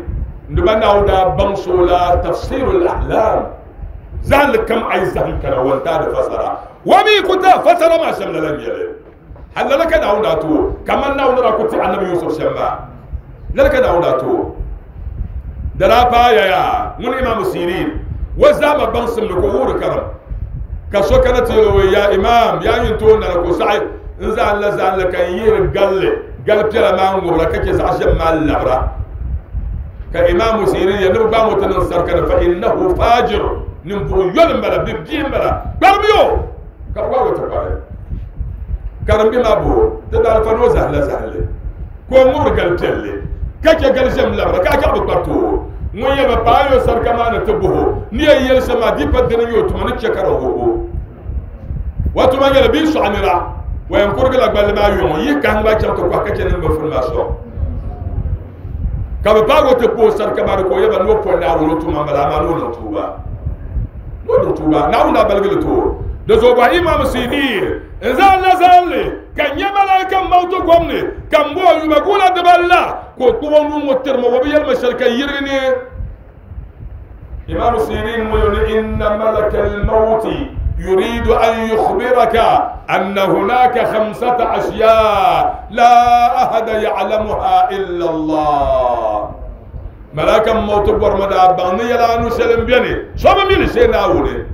nduba naawuni daa baŋ so la tafsirul ahlam zahinli kam a yi zahim kana wantaa di fasara wa mi ku ta fasara maa shɛm lala n-nyɛli hali lala ka naawuni daa to kaman naawuni daa ku ti anabi Yusuf shɛm maa lala ka naawuni daa to da daa paaya yaa ŋuni Imaamu Sirin wa zahama baŋsim ni ka o wuhiri karim ka so kana ti yɛli o ya imaam yaa nyin tooi nana ka o saɣi n zahin la zahin la ka n yihiri galli gali piɛla maa n ŋubira ka chɛ zaɣ shɛm maa labira ka Imaamu Sirin yɛli ni bi gbaai ŋɔ ti niŋ sarika ni fa innahu fajir ninvuɣu yoli n bala bi bia n bala kparimi o ka bi gbaai o ti kpari karimbi maa bo ti daalifa ni o zahim la zahinli ka o ŋubiri gali piɛlli ka chɛ gali ʒɛm labira ka a chaɣ bi kpariti o ŋun yɛli ba paai o sarika maa ni ti buhi ni yɛn yɛli shɛm maa di pa dini nyɛ o tuma ni chɛ ka di wuhi o wa tuma nyɛla bia sɔɣi nira wa yɛn kurigi la gballi maa yɔŋɔ yihi kahim gba chaŋ ti kɔhi ka chɛ niŋ bin fini maa sɔŋ ka bi paagi o ti kpa o sarika maa ni ka o yɛba ni o pɔri Naawuni o tuma n bala amaa ni o niŋ tuuba ni o niŋ tuuba Naawuni daa baligi li ti o di zuɣu bɔhi Imaamu Sirin n zaŋ la zaŋli ka n nyɛ malaika mawto gom ni ka n bo o yuma guula dibali la ka o kpuɣi o nuu ŋɔ tirima o bi yɛlima shɛli ka yirigi ni Imaamu Sirin ŋɔ ni inna malaka al-mawti يريد أن يخبرك أن هناك خمسة أشياء لا أحد يعلمها إلا الله ملاك موت برمدا باني يلا نسلم بيني شو بميل شيء ناولي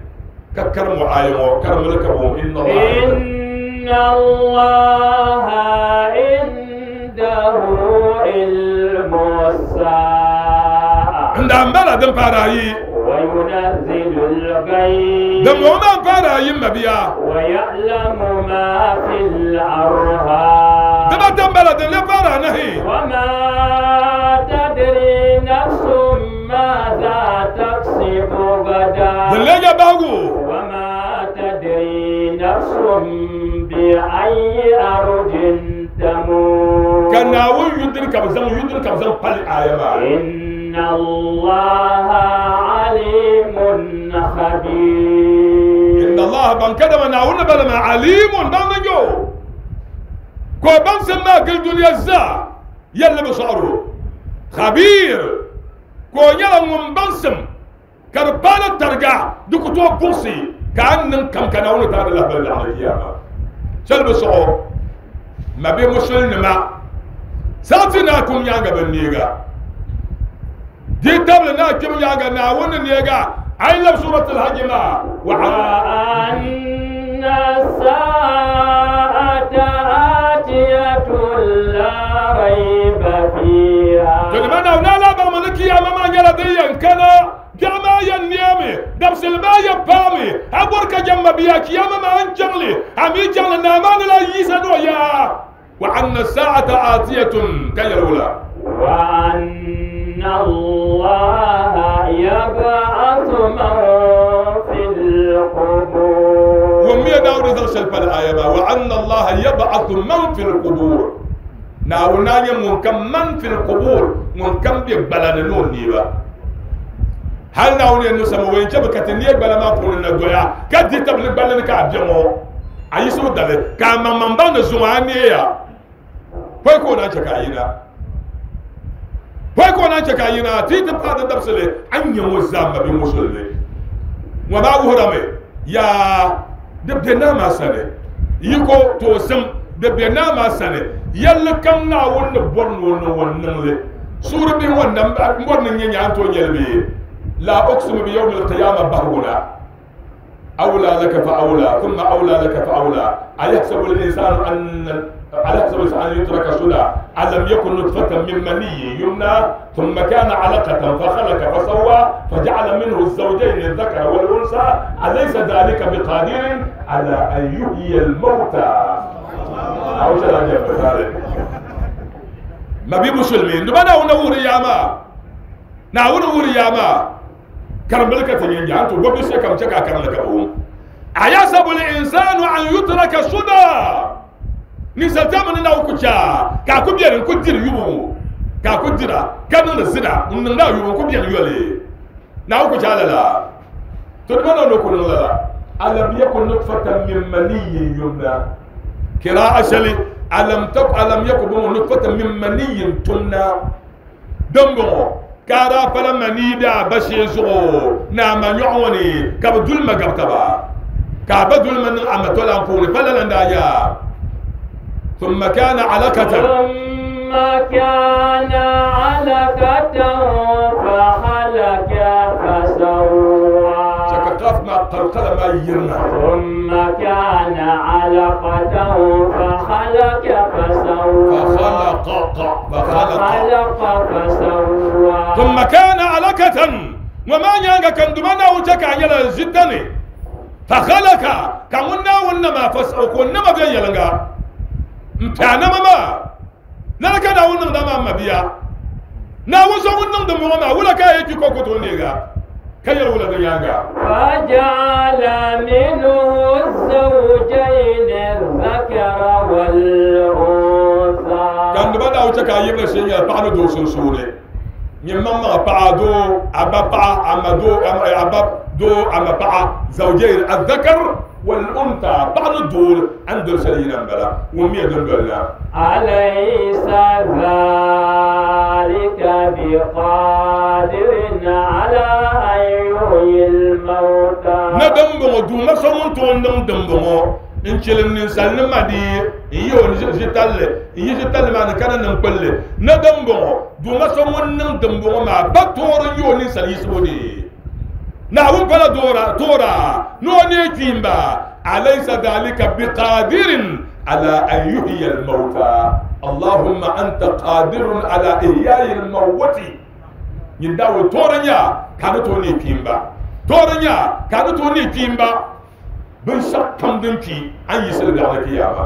ككرم عايمو كرم لكم إن الله إن الله عنده علم الساعة عند أمبلا دم باراي وينزل الغيث دم وما باراي مبيا ويعلم ما في الأرحام دم دم بلد لا بارا نهي وما تدري نفس ماذا تكسب غدا دلجا باغو وما تدري نفس بأي أرض تموت كان يدرك بزم يدرك بزم قال آية إن الله عليم خبير إن الله بان كده ما نعون بلا ما عليم بان نجو كو بان سما قل دنيا الزا يلا بشعره خبير كو يلا من بانسم كربانة ترجع دوكو تو بوسي كأن كم كان أول تعالى الله بلا على القيامة شل بشعر ما بي مسلم ما ساتنا كم يانغا بنيغا دي تبلنا كم يانغا ناون نيغا أي لب سورة الحج ما وأن الساعة آتية لا ريب فيها تلمنا ونا لا بملكي يا ماما يلا دي كنا جما ينيامي دبس الماء يبامي أبورك جما بياك يا ماما أنجلي أمي جل نامان لا يسدو يا وأن الساعة آتية كيرولا وأن الله يبعث من في القبور ومي داود زل شلف الآية وأن الله يبعث من في القبور ناونا يمكن من في القبور ممكن بيبلان نون نيبا هل ناوني انه سموين شبكة نيك بلا ما قول الدنيا كدي تبلغ بلن كابجمو ayi so dale ka mamamba na zuwa ya poi ko na chaka yina poi ko na chaka yina ti ti pa da dabsele an yan wazama bi musulle wa ba wuhrame ya de bena ma sane yiko to sam de bena ma sane yalla kam na won bon won won nan le sura bi won nan bon nan nya to nyelbe la uqsimu bi yawm al-qiyamah bahuna أولى لك فأولى ثم أولى لك فأولى أيحسب الإنسان أن أيحسب الإنسان أن يترك سدى ألم يكن نطفة من مني يمنى ثم كان علقة فخلق فسوى فجعل منه الزوجين الذكر والأنثى أليس ذلك بقادر على أن يحيي الموتى أو شرع Mabi musulmi nduma na wuna wuri yama na wuna wuri yama karambal ka tanyan ya to gobe sai kam caka karan ka bo ayasabu al insanu an yutraka suda ni saltama na ku cha ka ku biyan ku dir yubu ka ku dira ka nan zida mun na yubu ku biyan yole na ku cha lala to duma na ku lala alam yakun nutfatan min maniyyin yumna qira'a shali alam tak alam yakun nutfatan min maniyyin tumna dongo kara fala mani da bashi zugo na manyoni ka dul magabtaba ka badul man amatola ko fala landa ya thumma kana alaqatan thumma kana alaqatan fa khalaqa fa sawwa شكاف ما قلقل ما يرنا ثم كان علقة فخلق فسوى فخلق فخلق فسوى ثم كان علقة وما يانغا كان دمنا وجهك يلا جدني فخلق كمنا ونما فسوى كنما بين يلنغا متانا ماما لا كان ونما ما بيا نا وزو ونما دمو ولا كاي كوكو تونيغا كير ولا ديانغا فجعل منه الزوجين الذكر والأنثى كان بدا وتكا يبلا شيء بعد دو سنسوني نيمما بعدو ابا با امدو ابا دو اما با زوجين الذكر والأنثى بعد دول عند سلينا بلا ومية دول أليس ذلك بقادر على أن يحيي الموتى ندم بمو ما سمون تون دم بمو إن شلم نسال ما دي إيون جتال إيه جتال ما نكنا نقبل ندم بمو ما سمون دم بمو ما بتور يون نسال يسودي نعم فلا دورا تورا نوني كيمبا أليس ذلك بقادر على أن يحيي الموتى اللهم أنت قادر على إحياء الموت ينداو تورنيا كانوا توني كيمبا تورنيا كانوا توني كيمبا بن شك كم دنكي أن يسأل على القيامة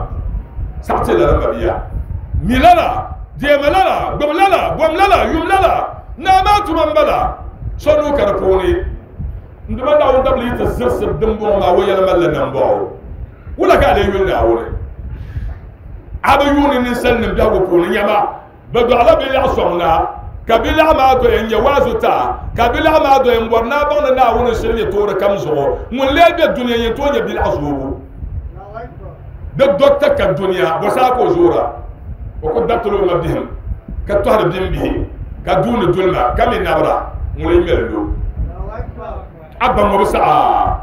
ساعتي لنا بيا ميلالا ديملالا بملالا بملالا يملالا نامات من بلا شنو كربوني nduma na wanda bli ta zirsa dimbo ma waya malla nan bawo wala ka le yun na wore aba yuni ni sallim da ko ni nyama ba do ala bil asonna kabila ma do en yawazu ta kabila ma do en borna ba na wona shirye to kam zo mun le be dunya ye to nya bil azuru da docteur ka dunya bo sa ko zura o ko datlo ma bihim ka to har bim bihi ka dun dulma kam nabra mun le meldo abba mo sa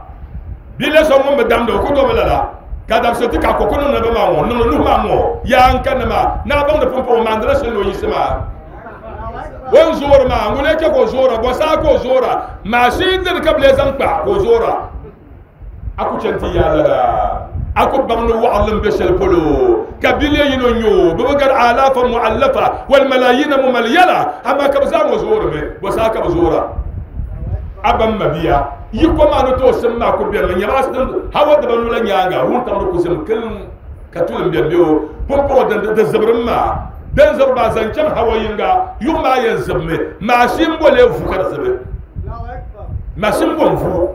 bile so mo bedam do ko do melala ka dam so ti ka ko kono na ba ma mo no no ma mo ya an kan ma na ba ndo pompo ma ndra so lo yisma won zora ma ngule ke ko zora bo sa ko zora ma shi dir ka ble zan pa ko zora aku centi ya la aku bang no wa'lam be shel polo ka bile yino nyo bo gar alafa mu'allafa wal malayin mumalyala amma ka za mo zora me bo sa ka zora abam mabiya yiko ma no to sem ma ko be ma nyama sin hawa da banu la nyanga hun tam ko sem kel ka tulam be bio pompo da da zabrim ma dan zarba zancan hawa yinga yuma yan zabme ma shim bole fu ka zabe ma shim bon fu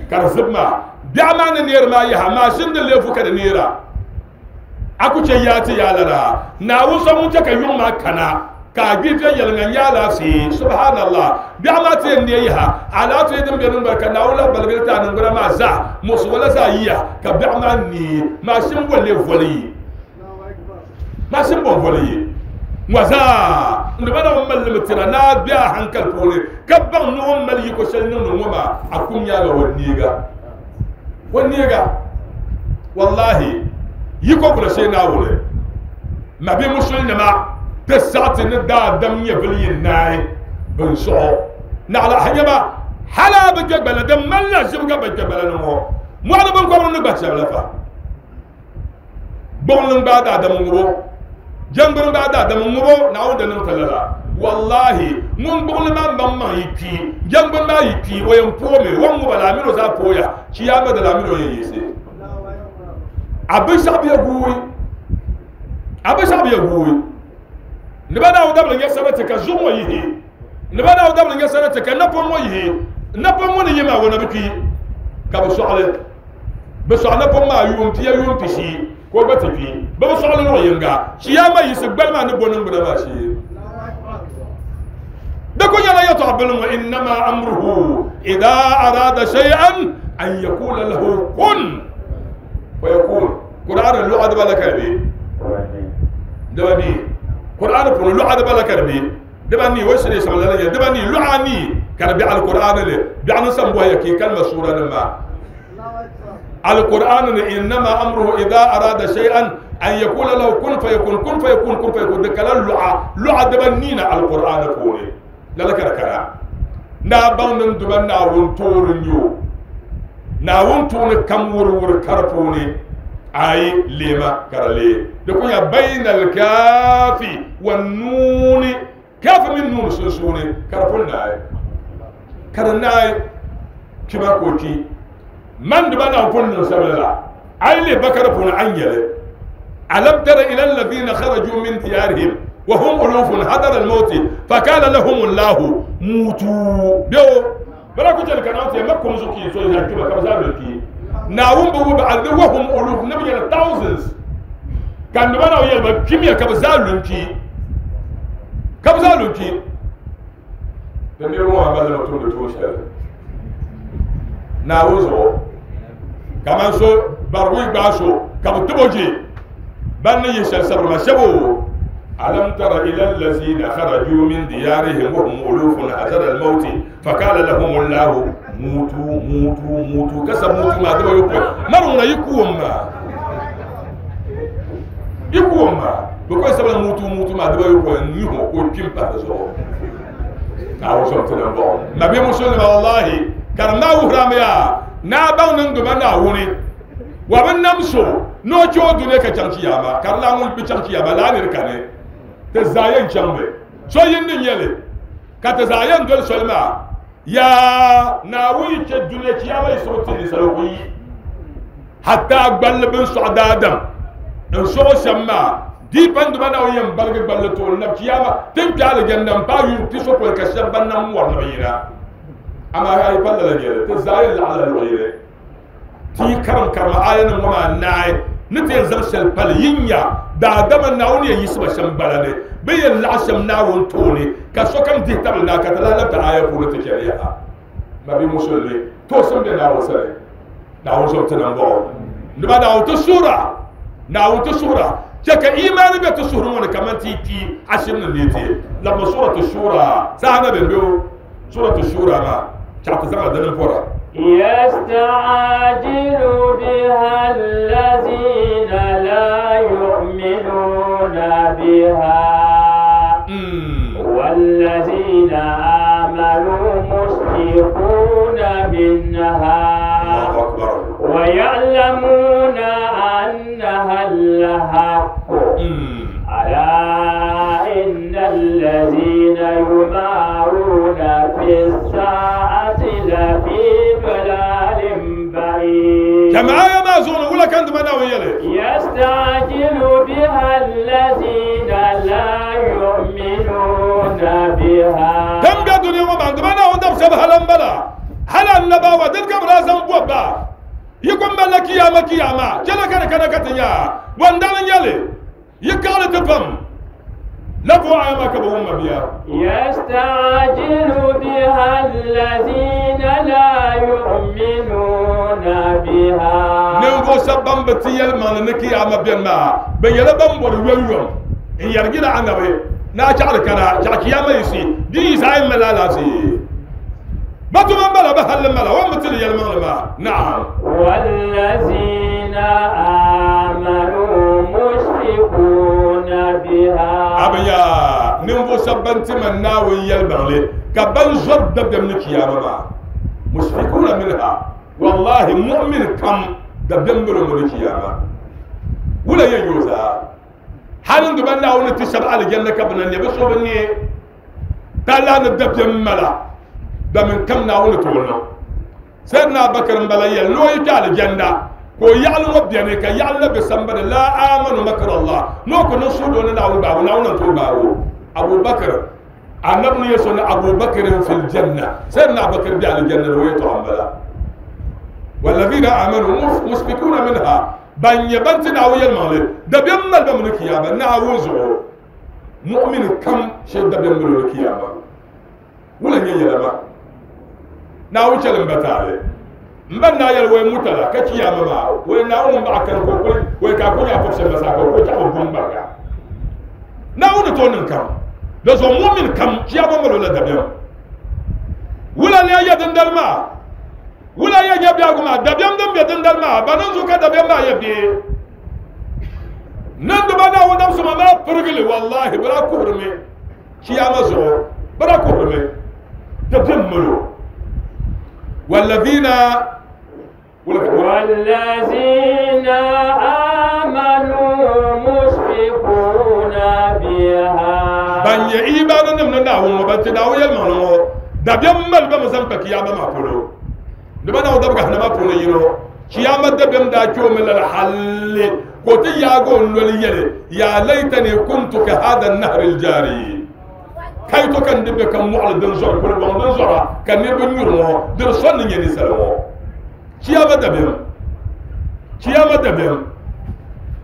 ka zabma bi amana ne ma ya ma shim da le fu ka da nera aku ce ya ti ya lara na wusa mun ta ka yuma kana ka bi fi yalngan ya la fi subhanallah bi ama te ne ya ala te din be nun barka na wala balgata nan gura ma za musu wala za yiya ka bi ama ni ma shim bole voli ma shim bon voli waza ndaba na mal mutira na biya hankal pole kabban no mal yiko shal nan no ma akum ya ga wonniga wonniga wallahi yiko kula sey na wole ma bi musul ne ma tasati ne da dam ya bilin nay bin so na ala hanyaba hala bi jagbala dam malla shibga bi jagbala no mo ala ban ko no ba shabla fa bon nan ba da dam ngoro jangoro ba da dam ngoro na wonde nan talala wallahi mun bugul ma ban ma yiki jangoro ma yiki o yam pome won mo bala mino za poya kiyama da lamino yeyese abu shabi guwi abu shabi guwi Nibada wadabla nya sabati ka zumo yihi nibada wadabla nya sabati ka napo mo yihi napo mo ni yima wona biki ka bu soxle be soxna po ma yum tiya yum tisi ko ba tifi ba bu soxle no yinga kiyama yisi gbalma ni bonun buna ma shi da ko yala ya ta'abbal wa inma amruhu idha arada shay'an an yaqula lahu kun fayakun. Qur'an lu'ad bala karbi dawani Qur'an pour lu'ad bala karbi dawani wasri sallallahu alayhi dawani lu'ani karbi al-Qur'an le bi'an sambo yake kalma sura ma al-Qur'an inma amruhu idha arada shay'an an yaqula lahu kun fayakun kun fayakun kun fayakun kala lu'a lu'a dabanina al-Qur'an pour la la kara na bangn duban na won torun yo na won tun kam wur wur karfone ay lema karale de ko ya bainal kafi wan nun kafi min nun susune karfon nay karnay kiba ko ki man duban na pon no sabala ay le bakara pon anyele alam tara ila alladhina kharaju min diyarihim وهم ألوف حضر الموت فقال لهم الله موتوا بيو بلا كنت لك أنا أنت ما كم زكي سوي هالكلمة كم زابلكي ناوم بقول بعد وهم ألوف نبي على thousands كان نبنا ويا بكمية كم زابلكي كم زابلكي تنيرو ما بدل ما تقول تقول شيء ناوزو كمان سو بروي باشو كم تبوجي بني يشل صبر ما شبو. ألم تر إلى الذين خرجوا من ديارهم وهم ألوف حذر الموت فقال لهم الله موتوا موتوا موتوا كسب موتوا ما دبا يقول مرنا يكوم ما يكوم ما بكوي سبب موتوا موتوا ما دبا يقول نيهو كو كيم بارزو أو سمتنا بون نبي مسلم والله كرنا وهراميا نابا نندم ناوني ومن نمسو نو جو دنيا كتشانكياما كرلا مول بتشانكياما لا نركانه تزاين جنبه شو يندن يلي كتزاين دول سلمى يا ناوي كدنيا كياما يسوتني سلوكي حتى أقبل بن سعد آدم إن شو سما دي بند ما ناوي ينبلغ بلتون نب كياما تمشي على جنب بايو تسوق الكشف بنا مور نبينا أما هاي بلد يلي تزاين على الغيرة تي كرم كرم آية نما ناي نتي زرشل بالينيا دا دم ناوني يسمى شمبلاني بين العشم ناون توني كشوكم دي تبلنا كتلا لا تعايا فورة تجاريها ما بيمشلني توسم بناون سري ناون شو تنبو نبى ناون تسورة ناون تسورة جاك إيمان بتسورة وانا كمان تي تي عشم نيتي لما سورة الشورى سهنا بنبيو سورة الشورى ما شعب تزعل دنا فورة يستعجل بها الذين لا يؤمنون بها والذين آمنوا مشفقون منها ويعلمون أنها الحق ألا إن الذين يمارون في الساعة لفي ضلال بعيد. جماعة ما زون ولا كان دمنا ويلي يستعجل بها الذين لا يؤمنون بها. كم قدر يوم عند دمنا وندم سبها لمبلا هل النبوة تلك برازم بوبا يكون ملك يا مكياما جل كان كان كتيا وندم يلي يكال تفهم لفوا عما كبهم بها. يستعجل بها الذين لا يؤمنون بها. نبغى سبب بتيال ما نكي عم بين ما بيلا بام وريوم إن يرجع عنا بي ناجع لكنا جاكيا ما يسي دي زعيم ملالاسي ما تمام بلا بحل ملا وما تلي المغلبة. نعم والذين آمنوا مشفقون بها. أبيا نبغى سبب تمنا ويا المغلب كبن جرب دم نكيا ما مشفقون منها والله مؤمن كم دم نكيا ما ولا يجوزا حال دبنا ونتشرع على الجنة كبنا نبص وبني تلا ندب ملا دم كم ناول تولنا سيدنا بكر مبلايا لو يجعل الجنة كو يعلم بيانك يعلم بسنبر لا آمن مكر الله نوكو نصود ونناول باو ناول نطول باو أبو بكر النبي يسون أبو بكر في الجنة سيدنا أبو بكر بيع الجنة ويتعم بلا والذين آمنوا مشفقون منها بان يبنت ناوي المالي دبيم البمن كيابا ناوزو مؤمن كم شيء دبيم من الكيابا ولا يلما ناوي شلم بتالي مبنا يلوي متلا كتيابا ما وين بعكن كوكل ويكاكو يا فوكس مساكو كوكو بومبا ناوي تونن كم لازم مؤمن كم كيابا ملولا دبيم ولا لا يدندل ما ولا يجب يا دبيم دم يدندل ما بنزو كدبيم ما يبي نند بنا ودم سما ما برجلي والله بلا كهرمي كياما زو بلا كهرمي دبيم ملو والذين والذين آمنوا مشفقون بها بان يإيمان نمنا هم بنتنا ويلمانو دبيم مل بمزم بكياما ما بلو نبنا ودبك هنا ما بقول يرو كيامة دبيم داكيو من الحل قلت يا قول وليلي يا ليتني كنت كهذا النهر الجاري كي تكن دبك معل دنزور كل وان دنزورا كان يبن يرمو درسون يني سلمو كيامة دبيم كيامة دبيم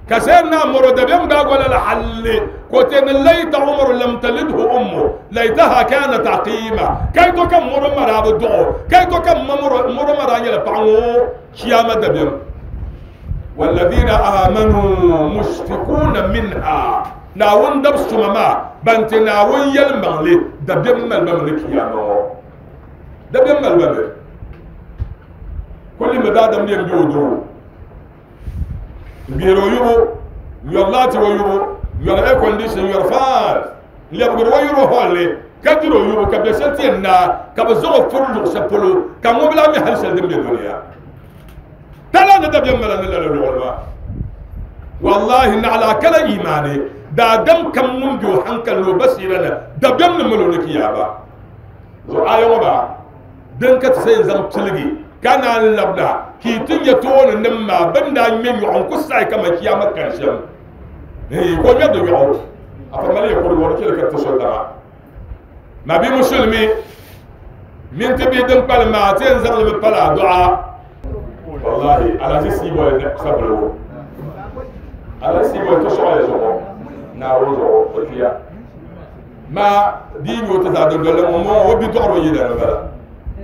كسرنا مرو دبيم داقول الحل قلت ليت عمر لم تلده أمه ليتها كانت عقيمة كي تكن مرو مرا بدعو كي تكن مرو مرو مرا يلبعو كيامة دبيم والذين آمنوا مشفقون منها ناون دبس ماما بنت ناون يلمغلي دبيم ملبملي كيامة دبيم ملبملي كل ما دادم يمجودو بيرو يبو يلاتي ويبو يلا اير كونديشن يلا فان ليبغر ويرو هولي كدرو يبو كبسنتي نا كبزو فرلو سبلو كمو بلا مي هل سلدم الدنيا تلا ندب يملا لا لا والله ان على كلا ايماني دا دم كم منجو حنكل لو بس يلنا دبيم نملو لكيابا زو ايو با دنك تسين زم تلغي كان لبنا كي تنيا تون نما بندا مين يعون كساي كما كيامة كرشم إيه كم يدو يعون أفرمالي يقول وركي لك تصدق ما بي مسلمي من تبي دم بالما تنزل من بلا دعاء والله على سيبوا صبروا على سيبوا تشعر يزعم ناروزو وفيا ما دين يتزاد ولا ما هو بيدور يدنا بلا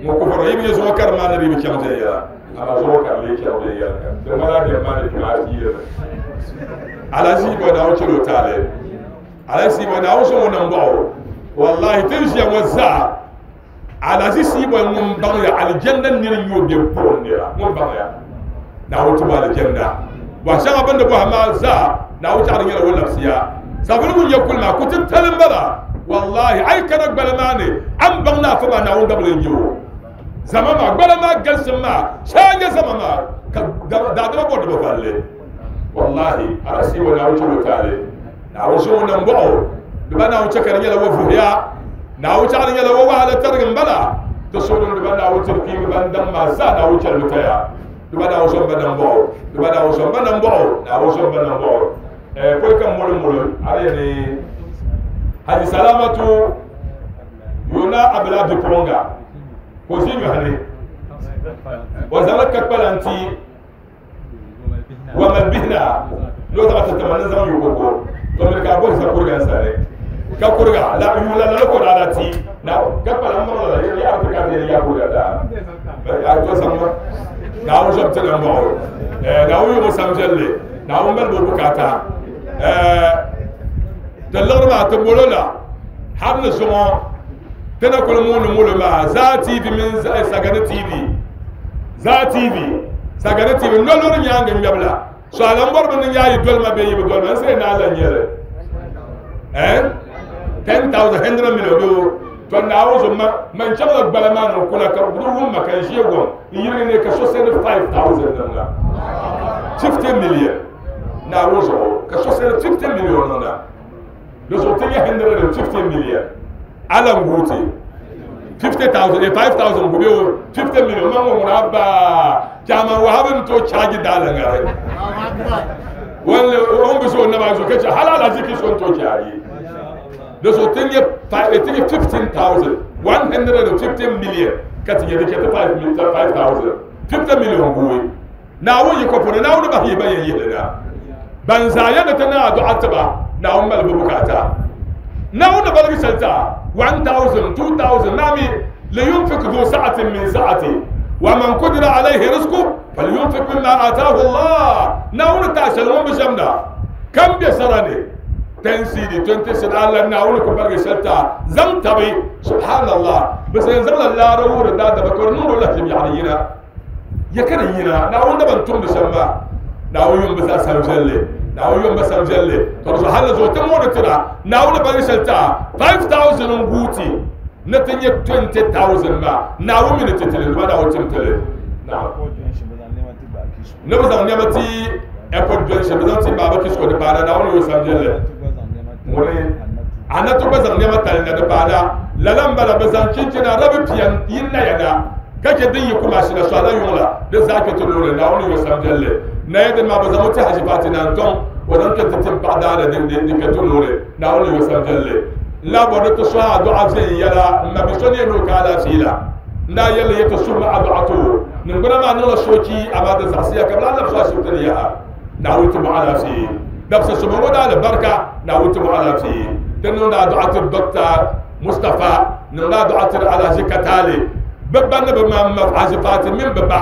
مكفر يبي يزوج كرمان نبي بكم زيا أما زوج كرلي كم زيا دمارا دمارا كماسير على سيبوا ناو شلو تالي على سيبوا ناو شو نمباو والله تمشي وزع على سيبوا نمباو على الجنة نيريو بيبون نيرا نمباو ناو تبا الجنة وعشان أبند بوها ما زا ناو تعرف يلا ولا بسيا سافروا يأكل ما كنت تلم بلا والله أي كنك بلماني أم بغنا فما ناو دبل يجو زمان ما بلا ما جلس ما شاجة زمان ما دادما بود بفعله والله أرسي وناو شلو تالي ناو شو نمبعو دبنا ناو شكر يلا وفويا ناو شعر يلا ووعلى ترجم بلا تصورون دبنا ناو تركي بندم ما زا ناو شلو تيا دبنا ناو شو بنمبعو دبنا ناو شو بنمبعو ناو شو بنمبعو كل كم مول مول أريني هذه سلامة يونا أبلا بيبونغا كوزين يهني وزارة كبلانتي ومن بهنا لو تبغى تتمنى زمان يوكو تمر كابو سكورغا ساري كابورغا لا يولا لا كور على تي نا كبلا مرة لا يا أرتكا تي يا كورغا دا أتو سامر ناو جبت لهم ناو يوم سامجلي ناو مل بوكاتا تلغر ما تبولولا حرن سمو تنا كل مول مول ما زا تي في من زا سجن تي في زا تي في سجن تي في نلور نيانغ نيابلا سؤال أمبر من نيا يدول ما بيجي بدول ما سينا على نيره eh ten thousand hundred million do to now so ma man chama balama no kula ka burum ma kan shego yiri ne ka so send five thousand na fifty million na rozo ka so send fifty million na do so tenya hundred fifty million ala nguti fifty thousand five thousand go fifty million ma mo rabba chama wa haben to charge dala ngare wala on biso na ba so kace halala ziki son to charge di zuɣu ti nyɛ fifteen thousand one hundred and fifteen million ka ti nyɛ di chɛ ti five thousand fifty million guui naawuni yi kɔpuni naawuni bahi yi ba yɛn yihili na ban zaa yɛn ti naa dɔɣa tiba naawuni mali bi bukaata naawuni baligi shɛli ta one thousand two thousand naami liyunfik du sa'atin min sa'ati wa man qudira alayhi rizquhu falyunfik mimma ataahu Allah naawuni ta shɛli ŋun bi shɛm na kam bɛ sara ni ten cd twenty cd Allah naawuni ku baligi shɛli ta zaŋ tabi subhanallah bi sɛn zaŋla laara wuhiri daadaba ka di niŋdi o lahi biɛɣuni yina ya ka di yina naawuni daban tumdi shɛm maa naawuni yom bi zaa sam viɛlli naawuni yom bi sam viɛlli ka di zuɣu hali zuɣu ti mooni tira naawuni baligi shɛli ta five thousand n guuti ni ti nyɛ twenty thousand maa naawuni mi ni ti tili duma naawuni tim tili ne bi zaŋ nɛma ti airport junction bi zaŋ ti baaba kisko di paana naawuni yo sam viɛlli ŋuni anatu gba zaŋ nɛma tali na di paana lala n bala bi zaŋ chinchina rabi pia yin naya na ka chɛ din yi kumashi na soala yuŋ la di zaa kpɛ ti loori naawuni yo sam viɛlli naya din maa bi zaŋ o ti haji paati na n tɔŋ o zaŋ kpɛ ti tim paɣa daana di kpɛ ti loori naawuni yo sam viɛlli n laa bɔri ti sɔhi aduɣa viɛnyɛla n ma bi so ni yɛn o ka alaafee la n daa yɛlli yɛ ti suhi ma aduɣa to ningbuna maa niŋla soochi amaa di zaɣasiya ka bi lahi labisi ashibiti ni yaha naawuni ti mo alaafee dabisa soma ŋɔ daa alibarika naawuni ti mo alaafee ti niŋdi aduɣa ti Doctor Mustapha niŋdi aduɣa tiri Alhaji Katale bi ba ni bi ma ma Haji Faati mini bi ba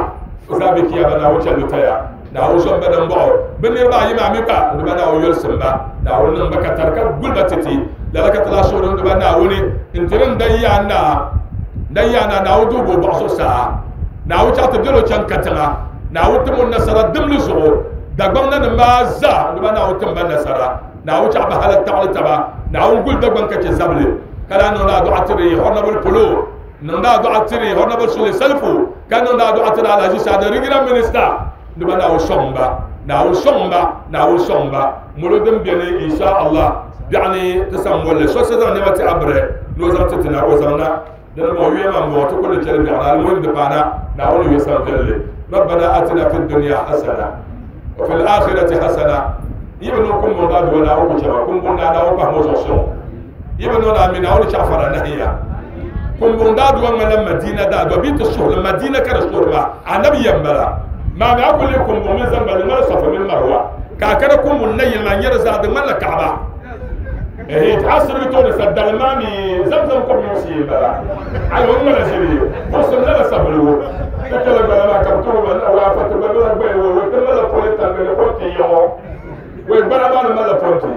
o zaa bɛ kiyama naawuni chɛli taya naawuni zɔn ba dimbɔɣu bi niriba ayi maa mi gba di ba naawuni yolisim ba naawuni niŋ ba ka tari ka guli ba titi lala ka ti lahi suhuri di ba naawuni n tiri n dan yaa naa dan yaa naa naawuni duhi bo bɔɣu zuɣusaa naawuni chaɣ ti biɛla o chaŋ katiŋa naawuni tim o nasara dimli zuɣu Dagbaŋ nanim maa zaa di ba naawuni tim ba nasara naawuni chaɣ bi hala taɣali taba naawuni guli Dagbaŋ ka chɛ zabili ka daa niŋdi aduɣa tiri honorable polo niŋdi aduɣa tiri honorable Sule Salifu ka niŋdi aduɣa tiri Alhaji Saadi regional minister di ba naawuni sɔŋ ba naawuni sɔŋ ba naawuni sɔŋ ba molo din beni insha Allah biɛɣuni ti sam molli so so zaŋ nɛma ti abiri ni o zaŋ ti ti na o zaŋ na dini bɔŋɔ yuya maa m-bɔŋɔ ti kuli chɛli biɛɣuni almuhim di paana naawuni yo sam viɛlli rabbana atina fi dunya hasana wa fil akhirati hasana yi bi niŋ kumbun daa duwa naawuni ku chɛma kumbun daa naawuni pahi mo zuɣu sɔŋ yi bi niŋ daa mi naawuni chaɣafara nahiya kumbun daa duwa ŋmanila Madina daa duwa bee ti suhuri Madina ka di suhuri maa anabi yɛm bala maa mi a kuli kumbun mini zaŋ bali ŋmani Safa mini Marwa ka a kana kumbun nayili maa nyɛri zaa di ŋmanila Kaaba eh a sirigi tooni sa dali maa mi zamzam kom nyɔŋsi yin bala ayi o ŋmana ʒiri buɣusim lala sabiligu ka kpɛla gbala maa ka bi tɔŋ ba na waa fati gba bela gbaya wo wo ti mala poli tangani pɔnti yɔŋɔ wai gbala maa ni mala pɔnti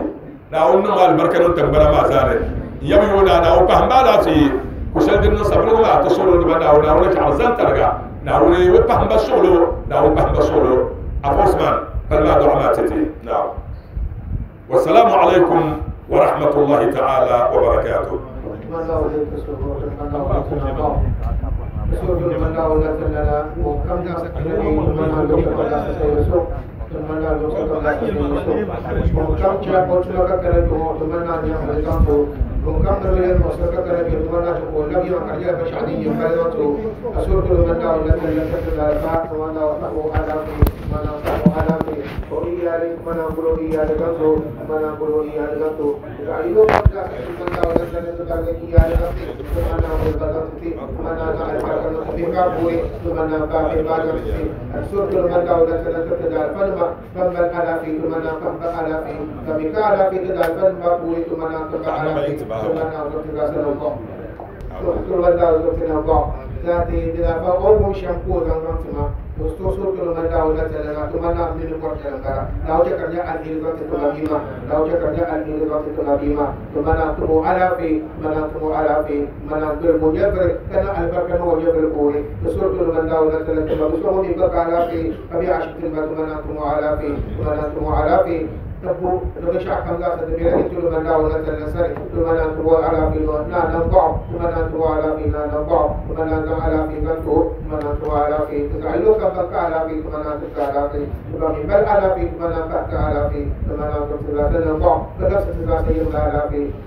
naawuni niŋ alibarika niŋ tingbana maa zaa ni n yɛbi yoona naawuni pahim ba alaafee ku shɛli din niŋ sabiligu maa ti suhuri di ba naawuni naawuni chaɣ zaŋ tariga naawuni o pahim ba suɣulo naawuni pahim ba suɣulo afa Usman pali maa dɔɣa maa titi naam wasalaamu alaykum wa rahmatullahi ta'ala wa barakatuh.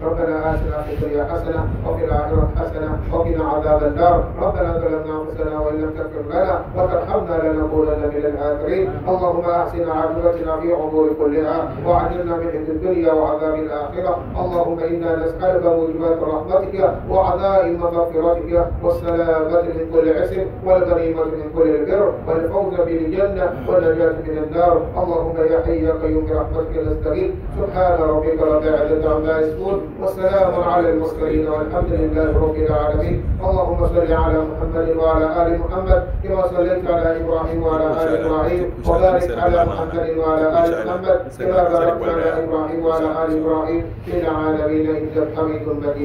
ربنا آتنا في الدنيا حسنة وفي الآخرة حسنة وقنا عذاب النار. ربنا ظلمنا أنفسنا وإن وإن لم تغفر لنا وترحمنا لنكونن من الآخرين. اللهم أحسن عاقبتنا في الأمور كلها وأجرنا من خزي الدنيا وعذاب الآخرة. اللهم إنا نسألك موجبات رحمتك وعزائم مغفرتك والسلامة من كل عسر والغنيمة من كل البر والفوز بالجنة والنجاة من النار. اللهم يا حي يا قيوم برحمتك نستغيث. سبحان ربك رب العزة عما يصفون والسلام على المرسلين والحمد لله رب العالمين. اللهم صل على محمد وعلى آل محمد كما صليت على إبراهيم وعلى آل إبراهيم، وبارك على محمد وعلى آل محمد كما باركت على إبراهيم وعلى آل إبراهيم في العالمين إنك حميد مجيد.